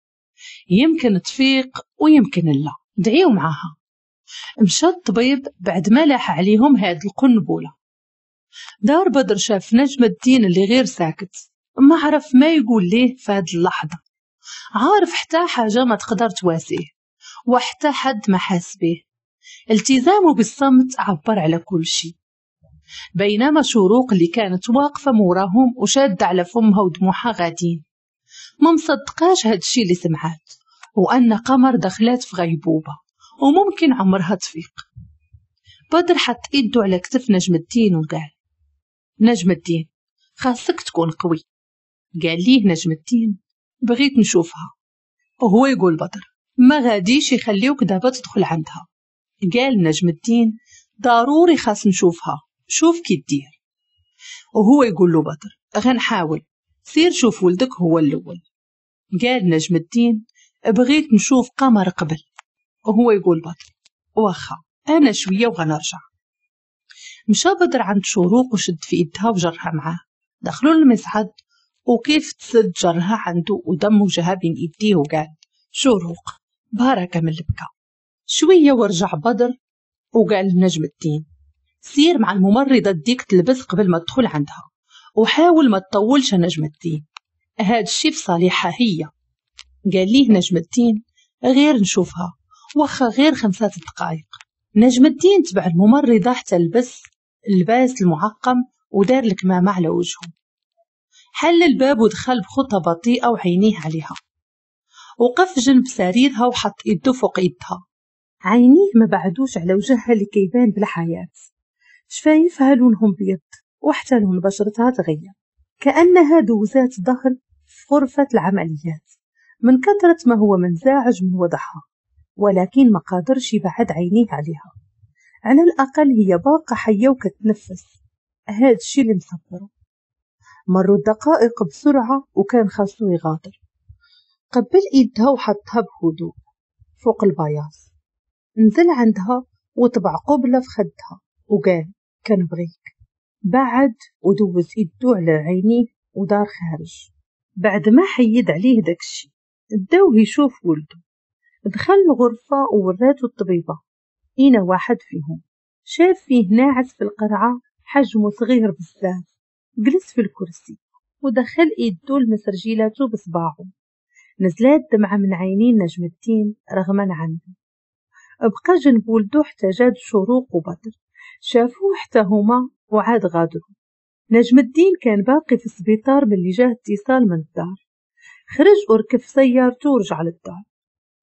يمكن تفيق ويمكن لا، دعيو معاها. مشى الطبيب بعد ما لاح عليهم هاد القنبلة. دار بدر شاف نجم الدين اللي غير ساكت، ما عرف ما يقول ليه في هاد اللحظة. عارف حتى حاجة ما تقدر تواسيه وحتى حد ما حاس به. التزامه بالصمت عبر على كل شيء. بينما شروق اللي كانت واقفة موراهم وشادة على فمها ودموعها غادين، ما مصدقاش هاد الشي اللي سمعات، وأن قمر دخلات في غيبوبة وممكن عمرها تفيق. بدر حط ايده على كتف نجم الدين وقال نجم الدين خاصك تكون قوي. قال ليه نجم الدين بغيت نشوفها، وهو يقول بدر ما غاديش يخليوك دابا تدخل عندها. قال نجم الدين ضروري خاص نشوفها، شوف كي دير. وهو يقول له بدر غنحاول، سير شوف ولدك هو الأول. قال نجم الدين بغيت نشوف قمر قبل. وهو يقول بدر واخا أنا شوية وغنرجع. مشى بدر عند شروق وشد في يدها وجرها معاه. دخلوا للمصعد وكيف تسد جرها عنده ودم وجهها بين يديه وقال شروق باركة من البكا. شوية ورجع بدر وقال لنجم الدين سير مع الممرضة ديك تلبس قبل ما تدخل عندها، وحاول ما تطولش نجم الدين، هاد الشي في صالحها هي. قال ليه نجم الدين غير نشوفها واخا غير 5 دقائق. نجم الدين تبع الممرضة حتى لبس اللباس المعقم ودار الكمامة على وجهه. حل الباب ودخل بخطى بطيئة وعينيه عليها. وقف جنب سريرها وحط يده فوق يدها. عينيه ما بعدوش على وجهها اللي كيبان بلا حياة. شفايفها لونهم بيض وحتى لون بشرتها تغير، كأنها دوزات ظهر في غرفة العمليات من كثرة ما هو منزعج من وضعها، ولكن ما قادرش يبعد عينيه عليها. على الأقل هي باقة حية وكتنفس، هاد الشي اللي مصبره. مروا الدقائق بسرعة وكان خاصو يغادر. قبل ايدها وحطها بهدوء فوق البياص. نزل عندها وطبع قبلة في خدها وقال كنبغيك. بعد ودوز ايدو على عينيه ودار خارج. بعد ما حيد عليه داكشي داوه يشوف ولده. دخل الغرفة ووراتو الطبيبة اينا واحد فيهم. شاف فيه ناعس في القرعة، حجمه صغير بزاف. جلس في الكرسي ودخل ايدو لمسرجيلاتو بصباعه. نزلات دمعة من عينين نجم الدين رغما عنه. بقى جنب ولدو حتى جاد شروق وبدر، شافوه حتى هما وعاد غادروا. نجم الدين كان باقي في السبيطار ملي جاه اتصال من الدار. خرج وركب في سيارته ورجع للدار.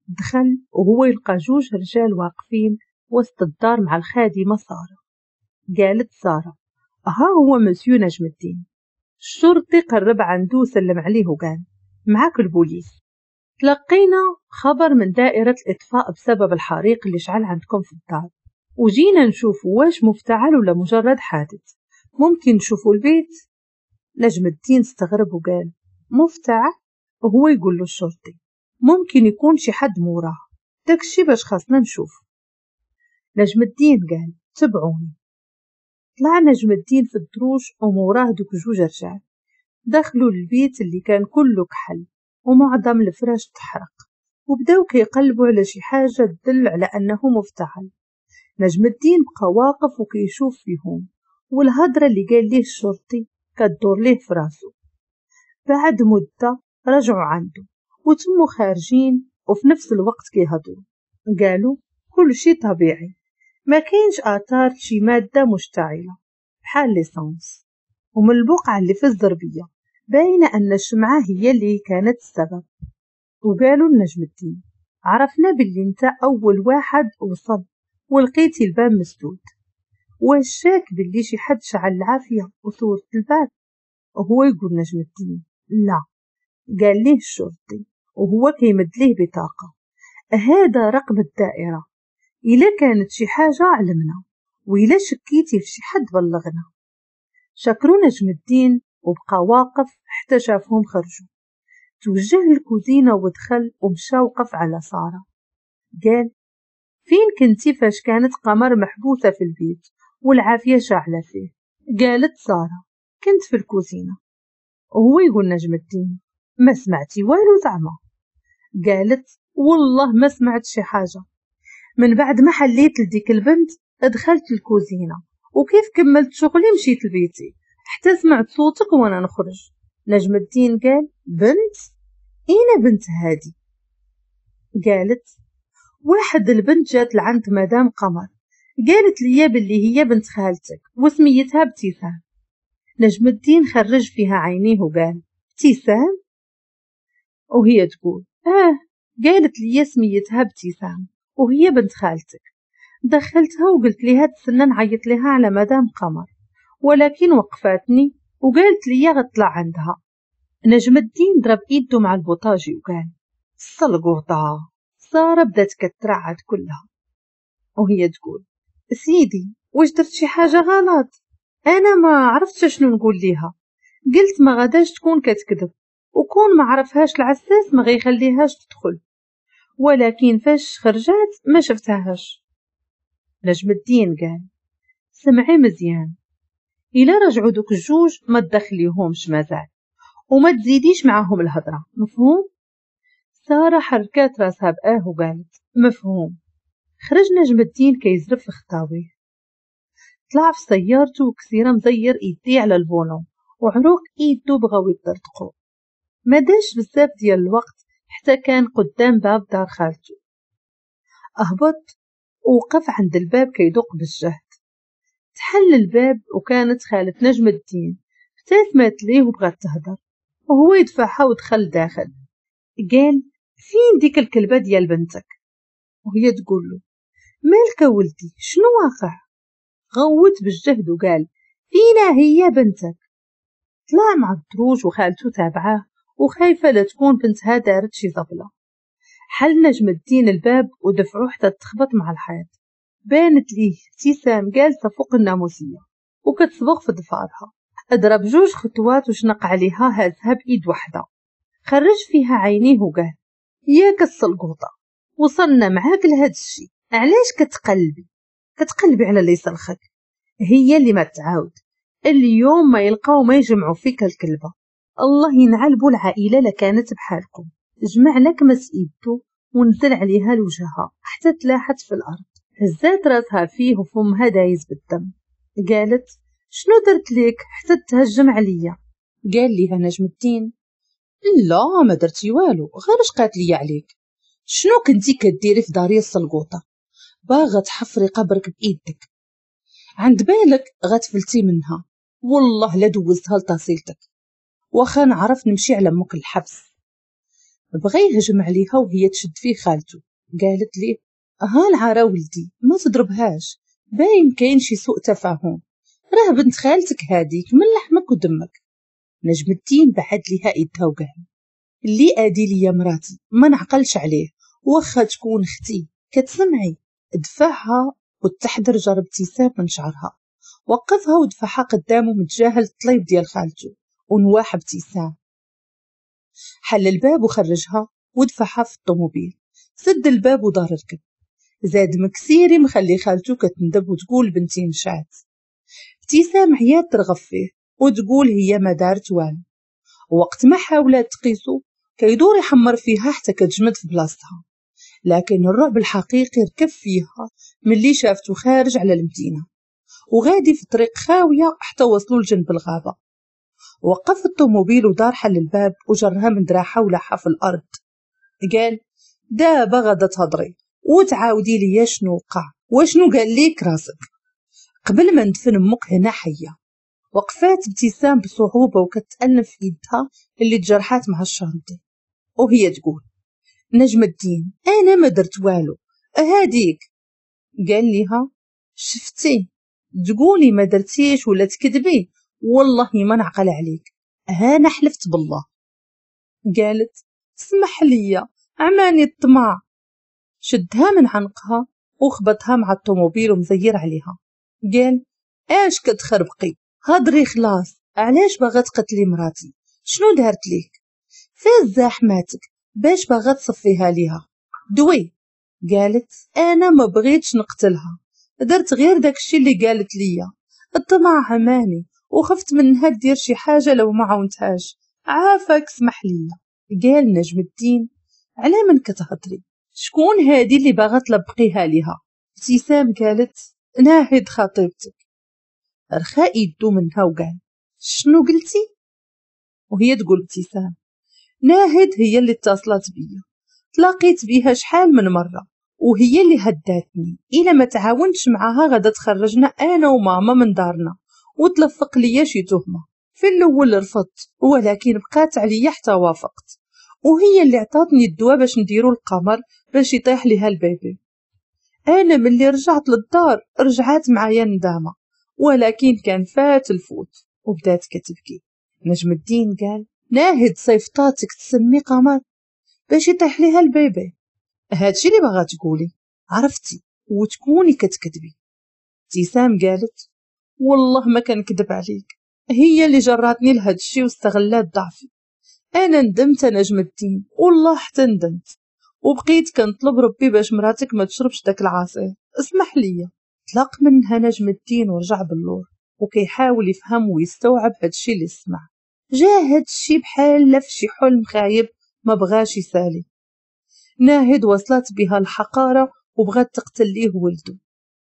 دخل وهو يلقى 2 رجال واقفين وسط الدار مع الخادمة سارة. قالت سارة ها هو مسيو نجم الدين. الشرطي قرب عنده وسلم عليه وقال معاك البوليس، تلقينا خبر من دائرة الإطفاء بسبب الحريق اللي شعل عندكم في الدار، وجينا نشوف واش مفتعل ولا مجرد حادث، ممكن نشوفوا البيت؟ نجم الدين استغرب وقال مفتعل؟ وهو يقول له الشرطي ممكن يكون شي حد موراه، داكشي باش خاصنا نشوف. نجم الدين قال تبعوني. طلع نجم الدين في الدروج وموراه دوك 2 رجال. دخلوا للبيت اللي كان كله كحل ومعظم الفراش تحرق، وبداو كيقلبوا على شي حاجة تدل على أنه مفتعل. نجم الدين بقى واقف وكيشوف فيهم، والهضرة اللي قال ليه الشرطي كدور ليه في راسو. بعد مدة رجعوا عنده وتموا خارجين، وفي نفس الوقت كيهضروا. قالوا كل شي طبيعي، ما كاينش آثار شي مادة مشتعلة بحال l'essence، ومن البقعة اللي في الزربية باينة أن الشمعة هي اللي كانت السبب. وقالوا لنجم الدين عرفنا باللي انت أول واحد وصل ولقيتي الباب مسدود، واش شاك باللي شي حد شعل العافية وصورت الباب؟ وهو يقول نجم الدين لا. قال ليه الشرطي وهو كيمد ليه بطاقة، هذا رقم الدائرة، إلا كانت شي حاجة علمنا، وإلا شكيتي في شي حد بلغنا. شكروا نجم الدين وبقى واقف حتى شافهم خرجوا. توجه للكوزينة ودخل ومشى وقف على سارة. قال فين كنتي فاش كانت قمر محبوسة في البيت والعافية شاعلة فيه؟ قالت سارة كنت في الكوزينة. وهو يقول نجم الدين ما سمعتي والو زعما؟ قالت والله ما سمعت شي حاجة، من بعد ما حليت لديك البنت دخلت الكوزينة، وكيف كملت شغلي مشيت لبيتي حتى سمعت صوتك وانا نخرج. نجم الدين قال بنت؟ اين بنت هادي؟ قالت واحد البنت جات لعند مدام قمر، قالت لي باللي هي بنت خالتك وسميتها ابتسام. نجم الدين خرج فيها عينيه وقال ابتسام؟ وهي تقول قالت لي سميتها ابتسام وهي بنت خالتك. دخلتها وقلت لها تسنى نعيط لها على مدام قمر، ولكن وقفاتني وقالت لي غطلع عندها. نجم الدين ضرب ايده مع البوطاجي وقال السلقوطة. سارة بدات كترعد كلها وهي تقول سيدي واش درت شي حاجة غلط؟ انا ما عرفتش شنو نقول ليها، قلت ما غاداش تكون كتكذب، وكون ما عرفهاش العساس ما غيخليهاش تدخل، ولكن فاش خرجات ما شفتهاش. نجم الدين قال سمعي مزيان، الا رجعوا دوك الجوج ما تدخليهمش مازال وما تزيديش معاهم الهضره، مفهوم؟ ساره حركات راسها بآه وقالت مفهوم. خرج نجم الدين كيزرب في خطاويه. طلع في سيارته وكثيرة مزير ايديه على ال volant وعروق ايدو بغاو يطرطقو. ما داش بزاف ديال الوقت حتى كان قدام باب دار خالته. اهبط ووقف عند الباب كيدق بالجهد. تحل الباب وكانت خالة نجم الدين. ابتسمت ليه وبغات تهضر وهو يدفعها ودخل داخل. قال فين ديك الكلبة ديال بنتك؟ وهي تقول له مالك ولدي، شنو واقع؟ غوت بالجهد وقال فينا هي بنتك؟ طلع مع الدروج وخالته تابعاه وخايفة لا تكون بنتها دارت شي زبلة. حل نجم الدين الباب ودفعوه حتى تخبط مع الحيط. بانت ليه ابتسام جالسة فوق الناموسية وكتصبغ في ضفارها. اضرب جوج خطوات وشنق عليها هازها بإيد وحدة. خرج فيها عينيه وقال ياك السلقوطة، وصلنا معاك لهاد الشي، علاش كتقلبي؟ كتقلبي على اللي يسلخك، هي اللي ما تعاود اليوم ما يلقاو ما يجمعوا فيك الكلبة. الله ينعلبوا العائلة لكانت بحالكم. جمع لك مس ايدو ونزل عليها لوجهها حتى تلاحت في الارض. هزات راسها فيه وفمها دايز بالدم. قالت شنو درت لك حتى تهجم عليا؟ قال ليها نجم الدين لا ما درتي والو، غير اش قالت لي عليك. شنو كنتي كديري في داري السلقوطه؟ باغا تحفري قبرك بايدك، عند بالك غتفلتي منها؟ والله لا دوزتها لتصيلتك، واخا نعرف نمشي على مك الحبس. بغى يهجم عليها وهي تشد فيه خالته. قالت ليه ها العارة ولدي ما تضربهاش، باين كاين شي سوء تفاهم، راه بنت خالتك هاديك من لحمك ودمك. نجم الدين بعد ليها ايدها وقال اللي ادي ليا مراتي ما نعقلش عليه واخا تكون اختي، كتسمعي؟ دفعها وتحضر جرب ابتسام من شعرها. وقفها ودفعها قدامه متجاهل الطليب ديال خالته ونواح ابتسام. حل الباب وخرجها ودفعها في الطوموبيل. سد الباب ودار ركب. زاد مكسيري مخلي خالته كتندب وتقول بنتي نشات. ابتسام عيات ترغب فيه وتقول هي ما دارت والو. وقت ما حاولت تقيسو كيدور يحمر فيها حتى كتجمد في بلاصتها. لكن الرعب الحقيقي ركب فيها ملي شافتو خارج على المدينة وغادي في طريق خاوية حتى وصلوا لجنب الغابة. وقف الطوموبيل ودار حل الباب وجرها من دراعها ولحها في الأرض. قال دابا غادا تهضري وتعاودي ليا شنو وقع وشنو قال ليك راسك قبل ما ندفن امك هنا حية. وقفات ابتسام بصعوبة وكتألم في يدها اللي تجرحات مع الشانطي وهي تقول نجم الدين أنا ما درت والو هاديك. قال لها شفتي تقولي ما درتيش ولا تكذبي، والله ما نعقل عليك، أنا حلفت بالله. قالت اسمح لي عماني الطمع. شدها من عنقها وخبطها مع الطوموبيل ومزير عليها. قال اش كتخربقي، هضري خلاص، علاش باغا تقتلي مراتي؟ شنو دارت ليك؟ فاز زاحماتك باش باغا تصفيها ليها؟ دوي. قالت انا ما بغيتش نقتلها، درت غير داكشي اللي قالت ليا، الطمع عماني وخفت منها دير شي حاجة لو ما عاونتهاش، عافاك اسمح ليا. قال نجم الدين على من كتهضري؟ شكون هادي اللي باغا تلبقيها ليها؟ ابتسام قالت ناهد خطيبتك. رخا يدو منها وقال شنو قلتي؟ وهي تقول ابتسام ناهد هي اللي اتصلت بيا، تلاقيت بيها شحال من مرة وهي اللي هداتني، إلا ما تعاونتش معاها غادا تخرجنا أنا وماما من دارنا وتلفق ليا شي تهمة. في الأول رفضت ولكن بقات عليا حتى وافقت، وهي اللي عطاتني الدواء باش نديرو القمر باش يطيح ليها البيبي. أنا ملي رجعت للدار رجعت معايا ندامة، ولكن كان فات الفوت. وبدات كتبكي. نجم الدين قال ناهد صيفطاتك تسمي قمر باش يطيح ليها ال bébé، هادشي اللي باغا تقولي عرفتي وتكوني كتكذبي. ابتسام قالت والله ما كنكذب عليك، هي اللي جراتني لهادشي واستغلات ضعفي، انا ندمت نجم الدين والله حتى ندمت، وبقيت كنطلب ربي باش مراتك ما تشربش داك العصير، اسمح لي. طلق منها نجم الدين ورجع باللور وكيحاول يفهم ويستوعب هادشي اللي سمع. جا هادشي بحال في شي حلم خايب ما بغاش يسالي. ناهد وصلت بها الحقارة وبغات تقتل ليه ولده،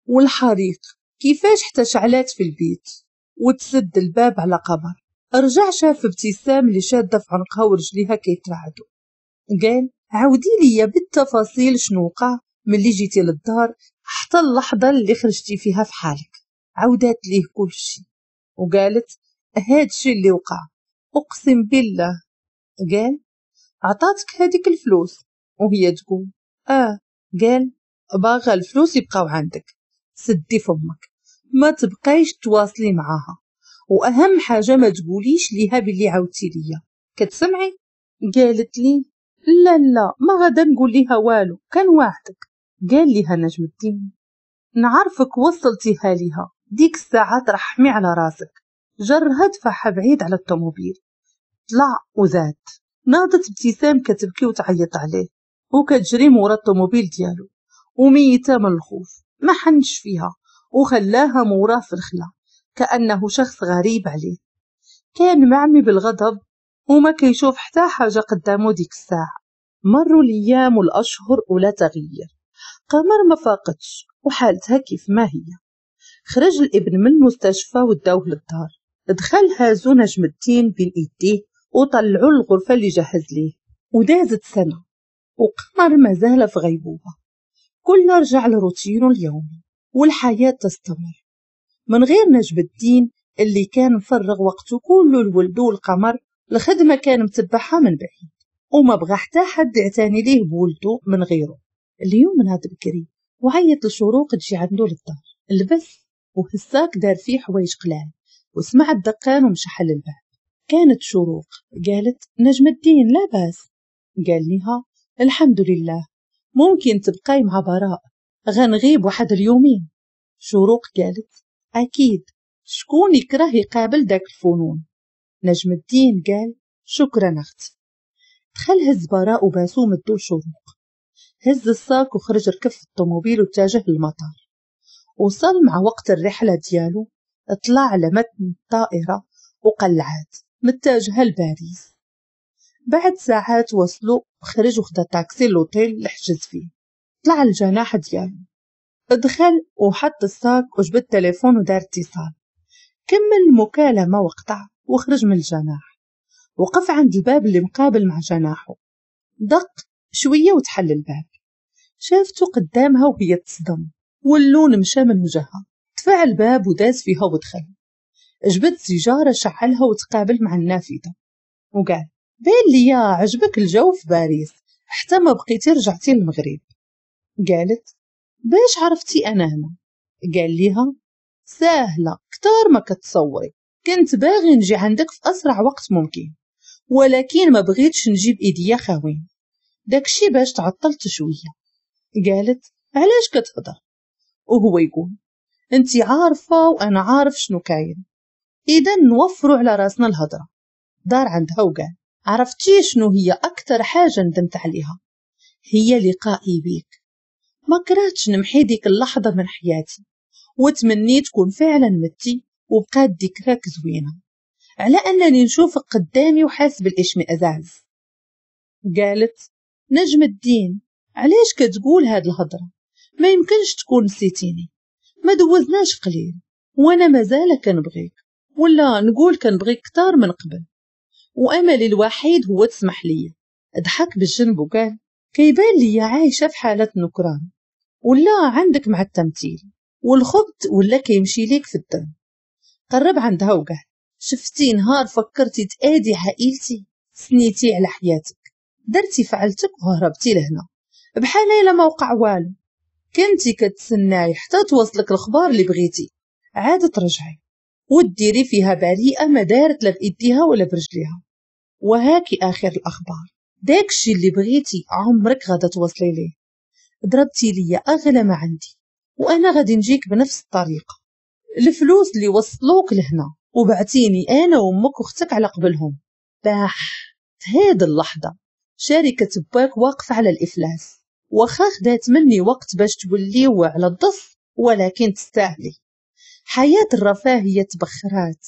والحريق كيفاش حتى شعلات في البيت وتسد الباب على قمر. رجع شاف ابتسام اللي شاده في عنقها ورجليها كيترعدوا. قال عاودي لي بالتفاصيل شنو وقع ملي جيتي للدار حتى اللحظة اللي خرجتي فيها في حالك. عاودات ليه كل شيء وقالت هاد الشيء اللي وقع اقسم بالله. قال عطاتك هذيك الفلوس؟ وهي تقول اه. قال باغا الفلوس يبقاو عندك، سدي فمك، ما تبقايش تواصلي معاها، واهم حاجة ما تقوليش ليها باللي عاودتي ليا، كتسمعي؟ قالت لي لا لا ما غادا نقول ليها والو، كان وعدك. قال ليها نجم الدين نعرفك وصلتيها ليها، ديك الساعة ترحمي على راسك. جرها دفعها بعيد على الطوموبيل، طلع وزاد. ناضت ابتسام كتبكي وتعيط عليه وكتجري مورا الطوموبيل ديالو وميتة من الخوف، ما حنش فيها وخلاها موراه في الخلا كأنه شخص غريب عليه. كان معمي بالغضب وما كيشوف حتى حاجة قدامه ديك الساعة. مروا الأيام والأشهر ولا تغيير، قمر ما فاقتش وحالتها كيف ما هي. خرج الابن من المستشفى وداوه للدار، دخل هازو نجم الدين بين ايديه وطلعوا الغرفة اللي جهز ليه. ودازت سنة وقمر ما زال في غيبوبة، كل رجع لروتينه اليومي والحياة تستمر من غير نجم الدين اللي كان مفرغ وقته كله لولده والقمر. الخدمة كان متبعها من بعيد وما بغى حتى حد يعتني ليه بولده من غيره. اليوم نهار بكري وعيط لشروق تجي عنده للدار، لبس وهساك دار فيه حوايج قلال وسمع الدقان ومشى حل الباب. كانت شروق. قالت نجم الدين لا باس؟ قال لها الحمد لله، ممكن تبقاي مع براء، غنغيب واحد اليومين. شروق قالت أكيد، شكون يكره يقابل داك الفنون؟ نجم الدين قال شكرا أختي. دخل هز براء وباسو مدو شروق، هز الصاك وخرج ركب في الطوموبيل واتجه للمطار. وصل مع وقت الرحلة ديالو، طلع على متن الطائرة وقلعات متجهة لباريس. بعد ساعات وصلوا، خرج وخدا تاكسي لوطيل اللي حجز فيه. طلع الجناح ديالو، دخل وحط ال sac وجبد التليفون ودار اتصال. كمل المكالمة وقطع وخرج من الجناح. وقف عند الباب اللي مقابل مع جناحه، دق شوية وتحل الباب. شافته قدامها وهي تصدم واللون مشى من وجهها. دفع الباب وداز فيها ودخل. جبد سيجارة شعلها وتقابل مع النافذة وقال بان ليا عجبك الجو في باريس حتى ما بقيتي رجعتي للمغرب. قالت باش عرفتي انا هنا؟ قال ليها ساهلة كتار ما كتصوري، كنت باغي نجي عندك في اسرع وقت ممكن، ولكن ما بغيتش نجيب ايديا خاوين، داكشي باش تعطلت شوية. قالت علاش كتهضر؟ وهو يقول انت عارفه وانا عارف شنو كاين، اذا نوفروا على راسنا الهضرة. دار عندها وقال عرفتي شنو هي اكثر حاجة ندمت عليها؟ هي لقائي بيك. ما كرهتش نمحي ديك اللحظة من حياتي وتمنيت تكون فعلا متي وبقات ذكراك زوينة على انني نشوفك قدامي وحاس بالاشمئزاز. قالت نجم الدين علاش كتقول هاد الهضرة؟ ما يمكنش تكون نسيتيني، ما دوزناش قليل وانا مازال كنبغيك، ولا نقول كنبغيك كتار من قبل، واملي الوحيد هو تسمح لي. ضحك بالجنب وقال كيبان لي عايشه في حاله نكران، ولا عندك مع التمثيل والخبط ولا كيمشي ليك في الدم. قرب عندها وقال شفتي نهار فكرتي تادي عائلتي، سنيتي على حياتك، درتي فعلتك وهربتي لهنا بحال الا ما وقع والو، كنتي كتسناي حتى توصلك الخبار اللي بغيتي عاد ترجعي وديري فيها بريئة ما دارت لا بايديها ولا برجليها. وهاكي اخر الاخبار، داكشي اللي بغيتي عمرك غادا توصلي ليه، ضربتي ليا اغلى ما عندي وانا غادي نجيك بنفس الطريقة. الفلوس اللي وصلوك لهنا وبعتيني انا وامك واختك على قبلهم. باح في هاد اللحظة شركة باك واقفة على الافلاس، واخا خدات مني وقت باش توليو على الضف، ولكن تستاهلي. حياة الرفاهية تبخرات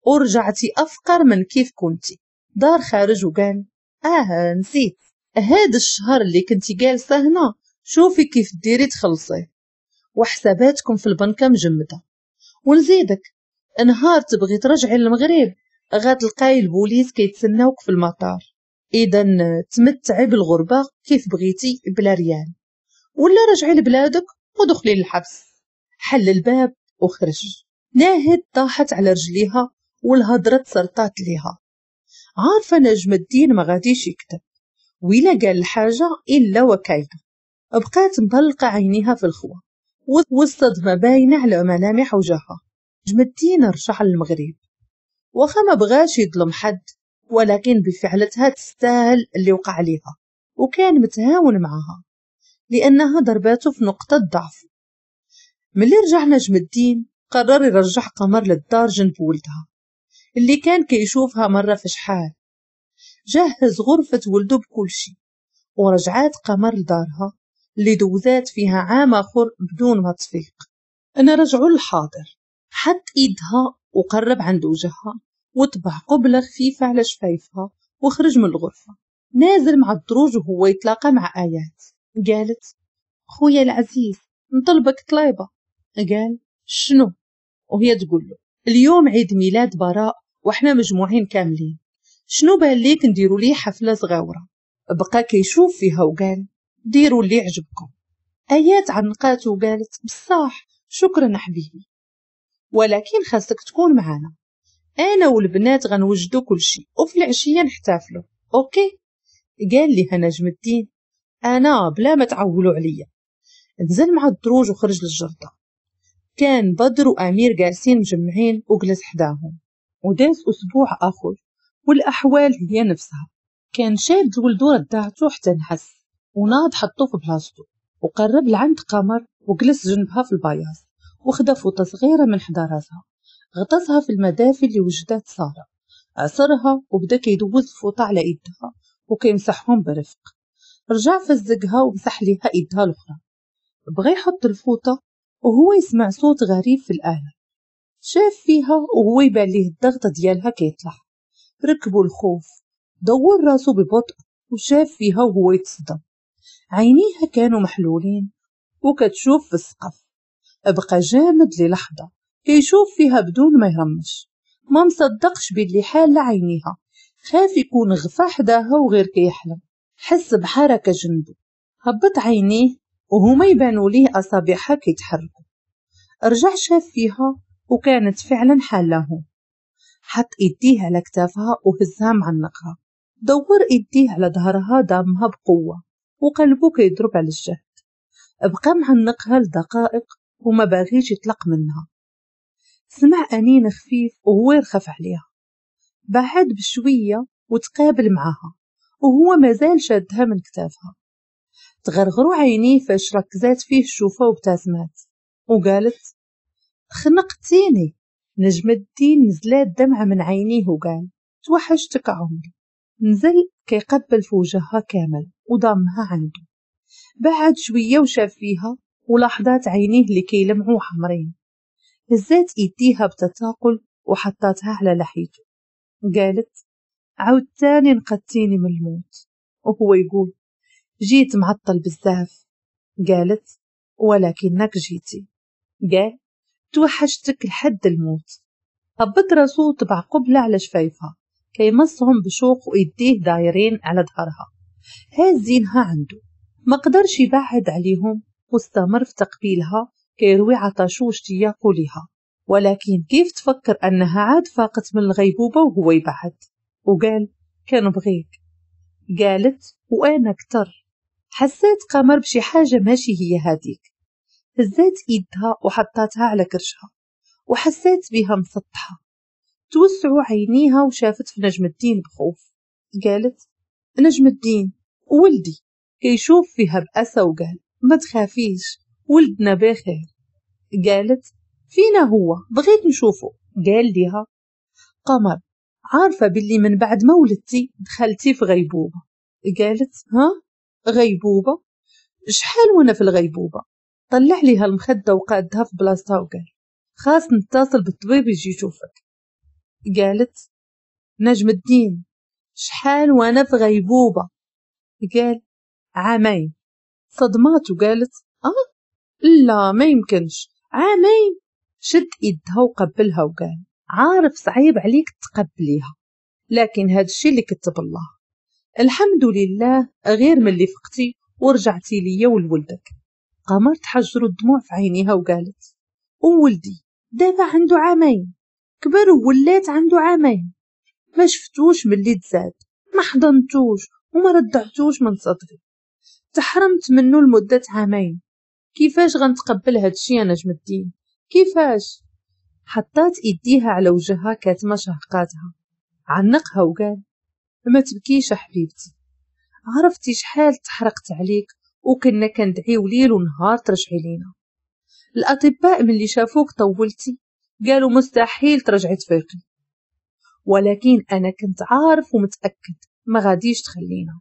ورجعتي أفقر من كيف كنتي. دار خارج وقال نسيت هاد الشهر اللي كنتي جالسة هنا، شوفي كيف ديري تخلصيه. وحساباتكم في البنكة مجمدة. ونزيدك نهار تبغي ترجعي للمغرب غتلقاي البوليس كيتسناوك في المطار. اذا تمتعي بالغربة كيف بغيتي بلا ريال، ولا رجعي لبلادك ودخلي للحبس. حل الباب وخرج. ناهد طاحت على رجليها والهضرة تسرطات ليها. عارفة نجم الدين ما غاديش يكتب وإلا قال الحاجة إلا وكايدة. بقات مطلقة عينيها في الخوا والصدمة باينة على ملامح وجهها. نجم الدين رجع للمغرب واخا ما بغاش يظلم حد، ولكن بفعلتها تستاهل اللي وقع عليها، وكان متهاون معها لأنها ضرباته في نقطة ضعف. ملي رجع نجم الدين قرر يرجع قمر للدار جنب ولدها اللي كان كيشوفها مرة في شحال. جهز غرفة ولده بكل شيء ورجعات قمر لدارها اللي دوزات فيها عام آخر بدون ما تفيق. أنا رجعوا للحاضر. حط إيدها وقرب عند وجهها وطبع قبلة خفيفة على شفايفها وخرج من الغرفة. نازل مع الدروج وهو يتلاقى مع آيات. قالت خويا العزيز نطلبك طليبة. قال شنو؟ وهي تقول له اليوم عيد ميلاد براء وحنا مجموعين كاملين، شنو بان ليك نديروا ليه حفلة صغيرة؟ بقى كيشوف فيها وقال ديروا اللي عجبكم. آيات عنقاته وقالت بصح شكرا حبيبي، ولكن خاصك تكون معنا، انا والبنات غنوجدوا كل شيء وفي العشية نحتفلوا، OK؟ قال لها نجم الدين انا بلا ما تعولوا عليا. نزل مع الدروج وخرج للجردة. كان بدر وامير جالسين مجمعين وجلس حداهم. وداز اسبوع اخر والاحوال هي نفسها. كان شاد ولدو ردعته حتى نحس وناض حطو في بلاصتو وقرب لعند قمر وجلس جنبها في البياض وخدا فوطه صغيرة من حدا راسها غطسها في المدافي اللي وجدات ساره. عصرها وبدا كيدوز الفوطه على ايدها وكيمسحهم برفق. رجع فزقها ومسح ليها ايدها الاخرى. بغى يحط الفوطه وهو يسمع صوت غريب في الآلة. شاف فيها وهو يبان ليه الضغط ديالها كيطلع. ركبوا الخوف. دور راسه ببطء وشاف فيها وهو يتصدم. عينيها كانوا محلولين وكتشوف في السقف. بقى جامد للحظة كيشوف فيها بدون ما يرمش، ما مصدقش باللي حالة عينيها، خاف يكون غفا حداها وغير كيحلم. حس بحركة جنبه، هبط عينيه وهما يبانوا ليه أصابعها كيتحركوا. رجع شاف فيها وكانت فعلا حالهم. حط ايديه على كتافها وهزها معنقها، دور ايديه على ظهرها ضامها بقوة وقلبه كيضرب على الجهد. بقى معنقها لدقائق وما باغيش يطلق منها. سمع أنين خفيف وهو يرخف عليها. بعد بشوية وتقابل معها وهو مازال شادها من كتافها. تغرغروا عينيه فاش ركزات فيه الشوفة وابتسمات وقالت خنقتيني. نجم الدين نزلات دمعة من عينيه وقال توحشتك عمري. نزل كيقبل في وجهها كامل وضمها عنده. بعد شوية وشاف فيها ولاحظات عينيه اللي كيلمعوا حمرين. هزات ايديها بتثاقل وحطاتها على لحيته. قالت عاودتاني نقدتيني من الموت. وهو يقول جيت معطل بزاف. قالت ولكنك جيتي. قال توحشتك لحد الموت. هبط راسو وطبع قبلة على شفايفها كيمصهم بشوق وإيديه دايرين على ظهرها هازينها عنده. ما قدرش يبعد عليهم واستمر في تقبيلها كيروي عطشو واشتياقو ليها. ولكن كيف تفكر أنها عاد فاقت من الغيبوبة وهو يبعد وقال كان بغيك. قالت وأنا كتر. حسيت قمر بشي حاجة ماشي هي هاديك. هزات ايدها وحطاتها على كرشها وحسيت بها مسطحة. توسعوا عينيها وشافت في نجم الدين بخوف. قالت نجم الدين ولدي. كيشوف فيها بأسى وقال ما تخافيش ولدنا بخير. قالت فينا هو بغيت نشوفه. قال لها قمر عارفة باللي من بعد ما ولدتي دخلتي في غيبوبة. قالت ها غيبوبة؟ شحال وانا في الغيبوبة؟ طلع ليها المخدة وقادها في بلاصتها وقال خاص نتصل بالطبيب يجي يشوفك. قالت نجم الدين شحال وانا في غيبوبة؟ قال عامين. صدمات وقالت لا ما يمكنش، عامين. شد ايدها وقبلها وقال عارف صعيب عليك تقبليها، لكن هاد الشي اللي كتب الله. الحمد لله غير ملي فقتي ورجعتي ليا ولولدك. قمر تحجروا الدموع في عينيها وقالت وولدي دابا عنده عامين، كبر وولات عنده عامين، ما شفتوش ملي تزاد، ما حضنتوش وما ردعتوش من صدري، تحرمت منه لمدة عامين. كيفاش غنتقبل هادشي يا نجم الدين؟ كيفاش؟ حطات ايديها على وجهها كاتمه شهقاتها. عنقها وقال ما تبكيش حبيبتي، عرفتي شحال تحرقت عليك وكنا كندعيو ليل ونهار ترجعي لينا. الاطباء ملي شافوك طولتي قالوا مستحيل ترجعي تفيقي، ولكن انا كنت عارف ومتاكد ما غاديش تخلينا.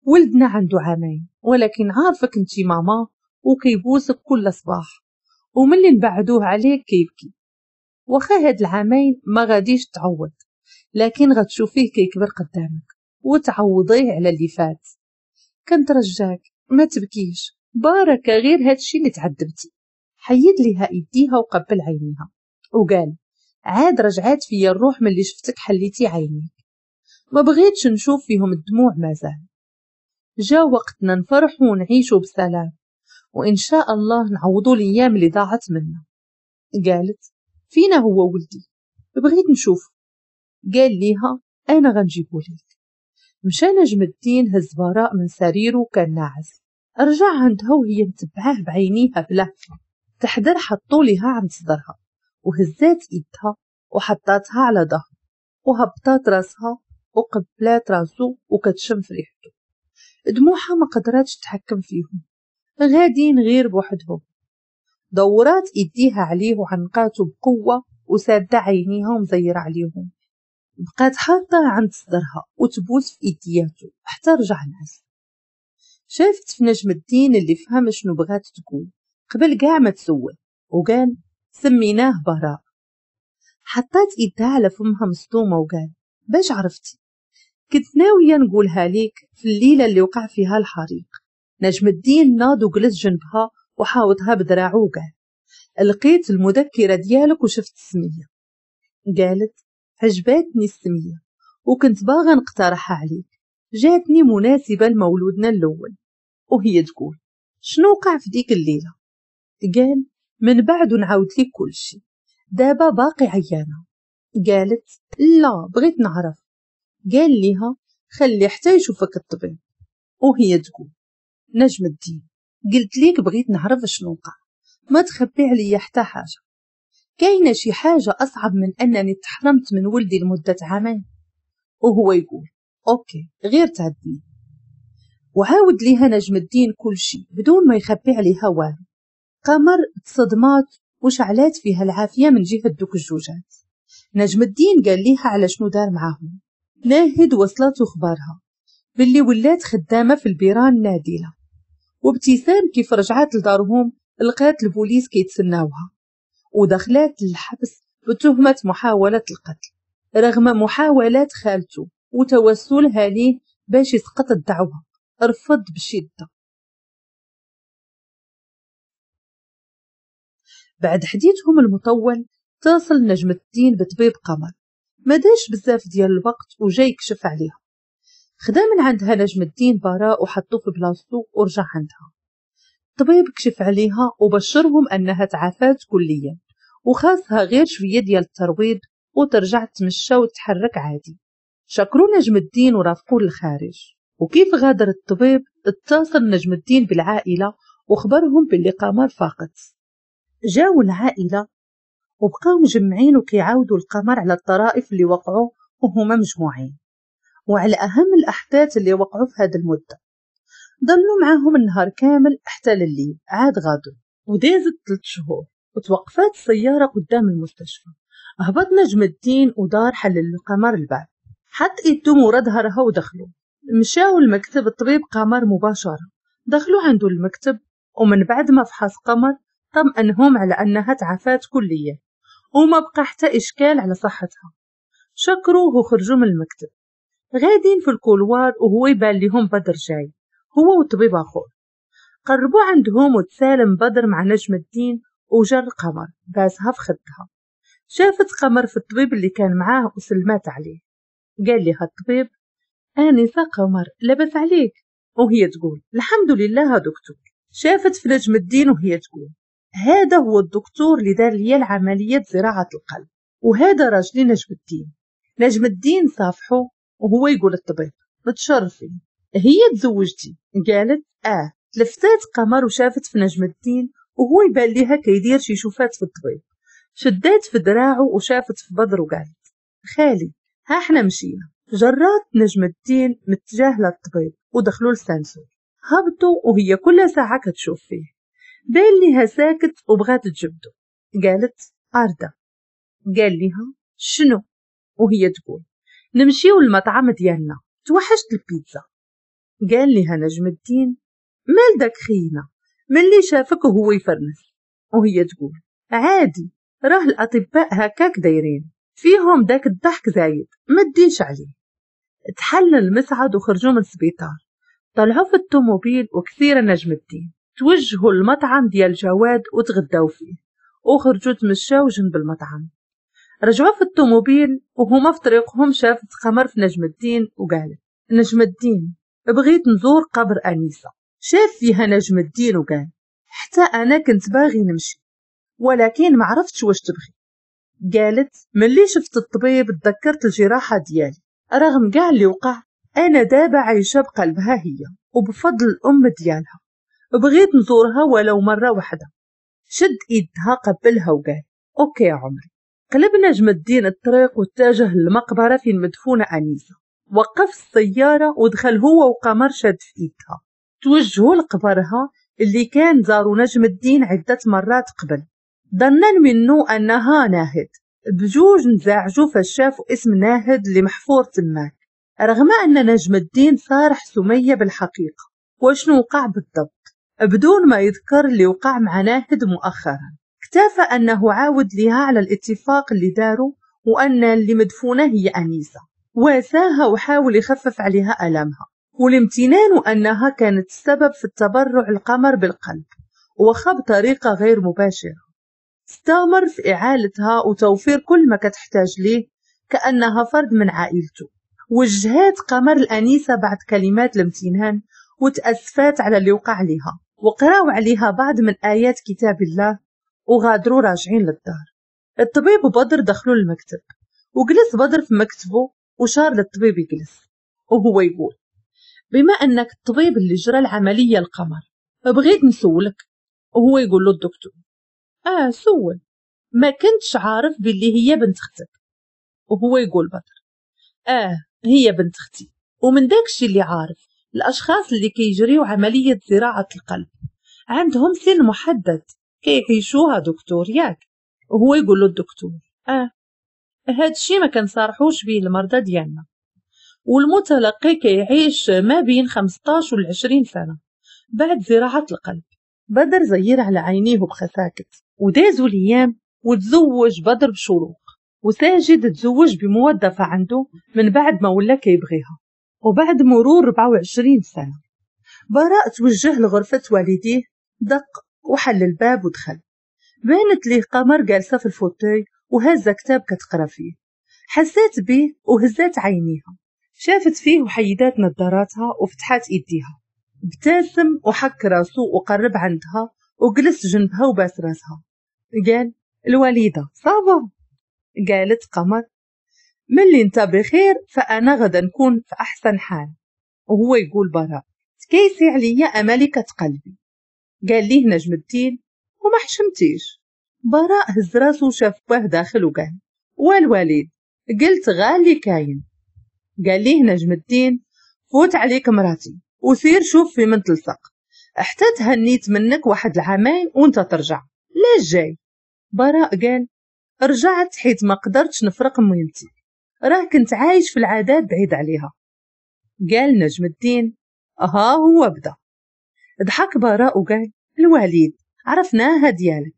ولدنا عنده عامين، ولكن عارفك انتي ماما وكيبوسك كل صباح، وملي نبعدوه عليك كيبكي. واخا هاد العامين ما غاديش تعوض، لكن غتشوفيه كيكبر قدامك وتعوضيه على اللي فات. كنترجاك ما تبكيش، باركه غير هادشي اللي تعذبتي. حيد ليها ايديها وقبل عينيها وقال عاد رجعات فيا الروح ملي شفتك حليتي عينيك، ما بغيتش نشوف فيهم الدموع مازال. جا وقتنا نفرحوا ونعيشوا بسلام، وإن شاء الله نعوضوا الأيام اللي ضاعت منا. قالت فينا هو ولدي، بغيت نشوف. قال ليها أنا غنجيبو ليك. مشى نجم الدين هز براء من سريره كان ناعس، رجع عندها وهي متبعاه بعينيها بلهفة. تحدر حطوا ليها عند صدرها وهزات ايدها وحطاتها على ظهره وهبطات راسها وقبلات راسو وكتشم في ريحته. دموعها ما قدراتش تتحكم فيهم، غادين غير بوحدهم. دورات ايديها عليه وعنقاته بقوة وسادة عينيها ومزيرة عليهم. بقات حاطة عند صدرها وتبوس في ايدياته حتى رجع نعس. شافت في نجم الدين اللي فهم شنو بغات تقول قبل كاع ما تسول، وقال سميناه براء. حطات ايدها على فمها مصدومة وقال باش عرفتي؟ كنت ناوية نقولها ليك في الليلة اللي وقع فيها الحريق. نجم الدين ناض وجلس جنبها وحاوطها بذراعه وقال لقيت المذكرة ديالك وشفت السمية. قالت عجباتني السمية وكنت باغا نقترحها عليك، جاتني مناسبة لمولودنا الأول. وهي تقول شنو وقع في ديك الليلة؟ قال من بعد نعاود لك كل شيء، دابا باقي عيانة. قالت لا بغيت نعرف. قال ليها خلي حتى يشوفك الطبيب. وهي تقول نجم الدين قلت ليك بغيت نعرف شنو وقع، ما تخبي عليا حتى حاجة. كاينة شي حاجة أصعب من أنني تحرمت من ولدي لمدة عامين؟ وهو يقول okay غير تعدني. وعاود ليها نجم الدين كل شيء بدون ما يخبي عليها والو. قمر تصدمات وشعلات فيها العافية من جهة دوك الجوجات. نجم الدين قال ليها على شنو دار معاهم. ناهد وصلت اخبارها باللي ولات خدامة في البيران نادلة، وابتسام كيف رجعت لدارهم لقات البوليس كيتسناوها ودخلات للحبس بتهمة محاولة القتل رغم محاولات خالته وتوسلها ليه باش يسقط الدعوة، رفض بشدة. بعد حديثهم المطول اتصل نجم الدين بطبيب قمر، ما داش بزاف ديال الوقت وجاي يكشف عليها. خدا من عندها نجم الدين براء وحطوه في بلاصتو ورجع عندها. الطبيب كشف عليها وبشرهم انها تعافات كليا وخاصها غير شويه ديال الترويض وترجع تمشى وتحرك عادي. شكروا نجم الدين ورافقوه للخارج. وكيف غادر الطبيب اتصل نجم الدين بالعائله وخبرهم باللي قمر فاقت. جاو العائله وبقاو مجمعين وكيعاودوا القمر على الطرائف اللي وقعوا وهما مجموعين وعلى اهم الاحداث اللي وقعوا في هذه المده. ضلوا معاهم النهار كامل حتى لليل، عاد غادروا. ودازت 3 شهور وتوقفات السياره قدام المستشفى. هبط نجم الدين ودار حل القمر الباب، حط ايدو مورا ظهرها ودخلوا. مشاو لمكتب الطبيب قمر مباشره، دخلوا عنده المكتب ومن بعد ما فحص قمر طمأنهم على انها تعافات كليا وما بقى حتى اشكال على صحتها. شكروه وخرجوا من المكتب. غادين في ال couloir وهو يبان لهم بدر جاي هو وطبيب اخر. قربوا عندهم وتسالم بدر مع نجم الدين وجر قمر باسها في خدها. شافت قمر في الطبيب اللي كان معاه وسلمات عليه. قال لها الطبيب آنسة قمر لبس عليك؟ وهي تقول الحمد لله دكتور. شافت في نجم الدين وهي تقول هذا هو الدكتور اللي دار لي العملية زراعة القلب، وهذا راجلي نجم الدين. نجم الدين صافحه وهو يقول الطبيب متشرفين، هي تزوجتي؟ قالت اه. تلفتات قمر وشافت في نجم الدين وهو يبان ليها كيدير شي شوفات في الطبيب. شدات في دراعه وشافت في بدر وقالت خالي ها احنا مشينا. جرات نجم الدين متجاهلة الطبيب ودخلوا لل ascenseur. هبطوا وهي كل ساعة كتشوف فيه، بان ليها ساكت وبغات تجبدو. قالت أردا. قال لها شنو؟ وهي تقول نمشيو للمطعم ديالنا، توحشت البيتزا. قال لها نجم الدين مال داك خينا ملي شافك وهو يفرنس؟ وهي تقول عادي، راه الأطباء هكاك دايرين فيهم داك الضحك زايد، ما تديش عليه. تحل المصعد وخرجوا من السبيطار. طلعوا في الطوموبيل وكثير نجم الدين. توجهوا للمطعم ديال جواد وتغداو فيه وخرجوا تمشاو جنب المطعم. رجعوا في الطوموبيل وهما في طريقهم شافت قمر في نجم الدين وقالت نجم الدين بغيت نزور قبر أنيسة. شاف فيها نجم الدين وقال حتى أنا كنت باغي نمشي ولكن ما عرفتش واش تبغي. قالت ملي شفت الطبيب تذكرت الجراحة ديالي، رغم كاع اللي وقع أنا دابا عايشة بقلبها هي وبفضل الأم ديالها، بغيت نزورها ولو مرة واحدة. شد إيدها قبلها وقال okay يا عمري. قلب نجم الدين الطريق واتجه للمقبرة فين مدفونة أنيسة. وقف السيارة ودخل هو وقمر شاد في إيدها. توجهوا لقبرها اللي كان زاروا نجم الدين عدة مرات قبل، ظنا منه أنها ناهد. بجوج نزعجوا فشافوا اسم ناهد اللي محفور تماك، رغم أن نجم الدين صارح سمية بالحقيقة وشنو وقع بالضبط بدون ما يذكر اللي وقع مع ناهد مؤخرا. اكتفى أنه عاود لها على الاتفاق اللي داروا وأن اللي مدفونة هي أنيسة. واساها وحاول يخفف عليها ألمها والامتنان أنها كانت السبب في التبرع القمر بالقلب وخا بطريقة غير مباشرة. استمر في إعالتها وتوفير كل ما كتحتاج ليه كأنها فرد من عائلته. وجهات قمر الأنيسة بعد كلمات الامتنان وتأسفات على اللي وقع لها، وقراو عليها بعض من آيات كتاب الله وغادروا راجعين للدار. الطبيب وبدر دخلوا المكتب وجلس بدر في مكتبه وشار للطبيب يجلس وهو يقول بما أنك الطبيب اللي جرى العملية القمر بغيت نسولك. وهو يقول له الدكتور سول، ما كنتش عارف باللي هي بنت اختك. وهو يقول بدر هي بنت اختي، ومن داكشي اللي عارف الأشخاص اللي كيجريو عملية زراعة القلب عندهم سن محدد كيعيشوها دكتور ياك. وهو يقول له الدكتور هادشي ما كنصارحوش به المرضى ديالنا، والمتلقي كيعيش ما بين 15 و 20 سنة بعد زراعة القلب. بدر زير على عينيه بخساكت. ودازوا الايام وتزوج بدر بشروق، وساجد تزوج بموظفة عنده من بعد ما ولا كيبغيها. وبعد مرور 24 سنة براء توجه لغرفة والديه، دق وحل الباب ودخل. بانت ليه قمر جالسة في ال fauteuil وهزة كتاب كتقرا فيه. حسات به وهزات عينيها، شافت فيه وحيدات نظاراتها وفتحات ايديها. ابتسم وحك راسه وقرب عندها وجلس جنبها وباس راسها. قال الوليدة ça va؟ قالت قمر ملي انت بخير فأنا غدا نكون في أحسن حال. وهو يقول براء تكيسي عليا أملكة قلبي. قال ليه نجم الدين وما حشمتيش؟ براء هز راسه وشاف باه داخل وقال والوالد قلت غالي كاين. قال ليه نجم الدين فوت عليك مراتي وسير شوف في من تلصق، حتى تهنيت منك واحد العامين وانت ترجع، لا جاي؟ براء قال رجعت حيت ما قدرتش نفرق ميمتي، راه كنت عايش في العادات بعيد عليها. قال نجم الدين ها هو بدا. ضحك براء وقال الوليد عرفناها ديالك.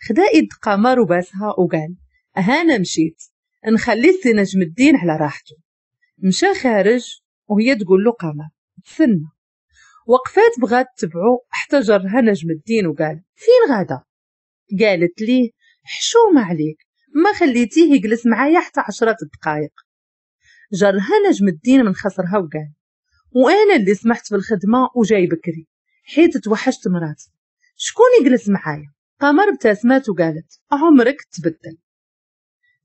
خدا ايد قمر وباسها وقال هانا مشيت نخلي سي نجم الدين على راحته. مشى خارج وهي تقول له قمر تسنى. وقفات بغات تبعو حتى جرها نجم الدين وقال فين غادا؟ قالت ليه حشومة عليك، ما خليتيه يجلس معايا حتى 10 دقائق. جرها نجم الدين من خصرها وقال وانا اللي سمحت في الخدمة وجاي بكري حيت توحشت مراتي، شكون يجلس معايا؟ قمر ابتسمت وقالت عمرك تبدل.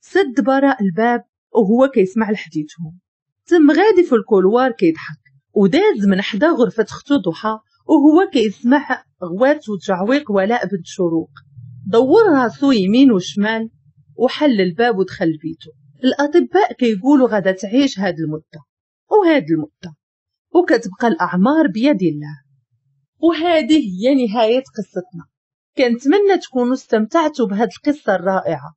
سد براء الباب وهو كيسمع لحديثهم، تم غادي في ال couloir كيضحك وداز من حدا غرفة اختو ضحى وهو كيسمع غوات وتجعويق ولاء بنت شروق. دور راسو يمين وشمال وحل الباب ودخل بيته. الأطباء كيقولوا غادا تعيش هاد المدة وهاد المدة وكتبقى الأعمار بيد الله. وهذه هي نهاية قصتنا. كنتمنى تكونوا استمتعتوا بهاد القصة الرائعة.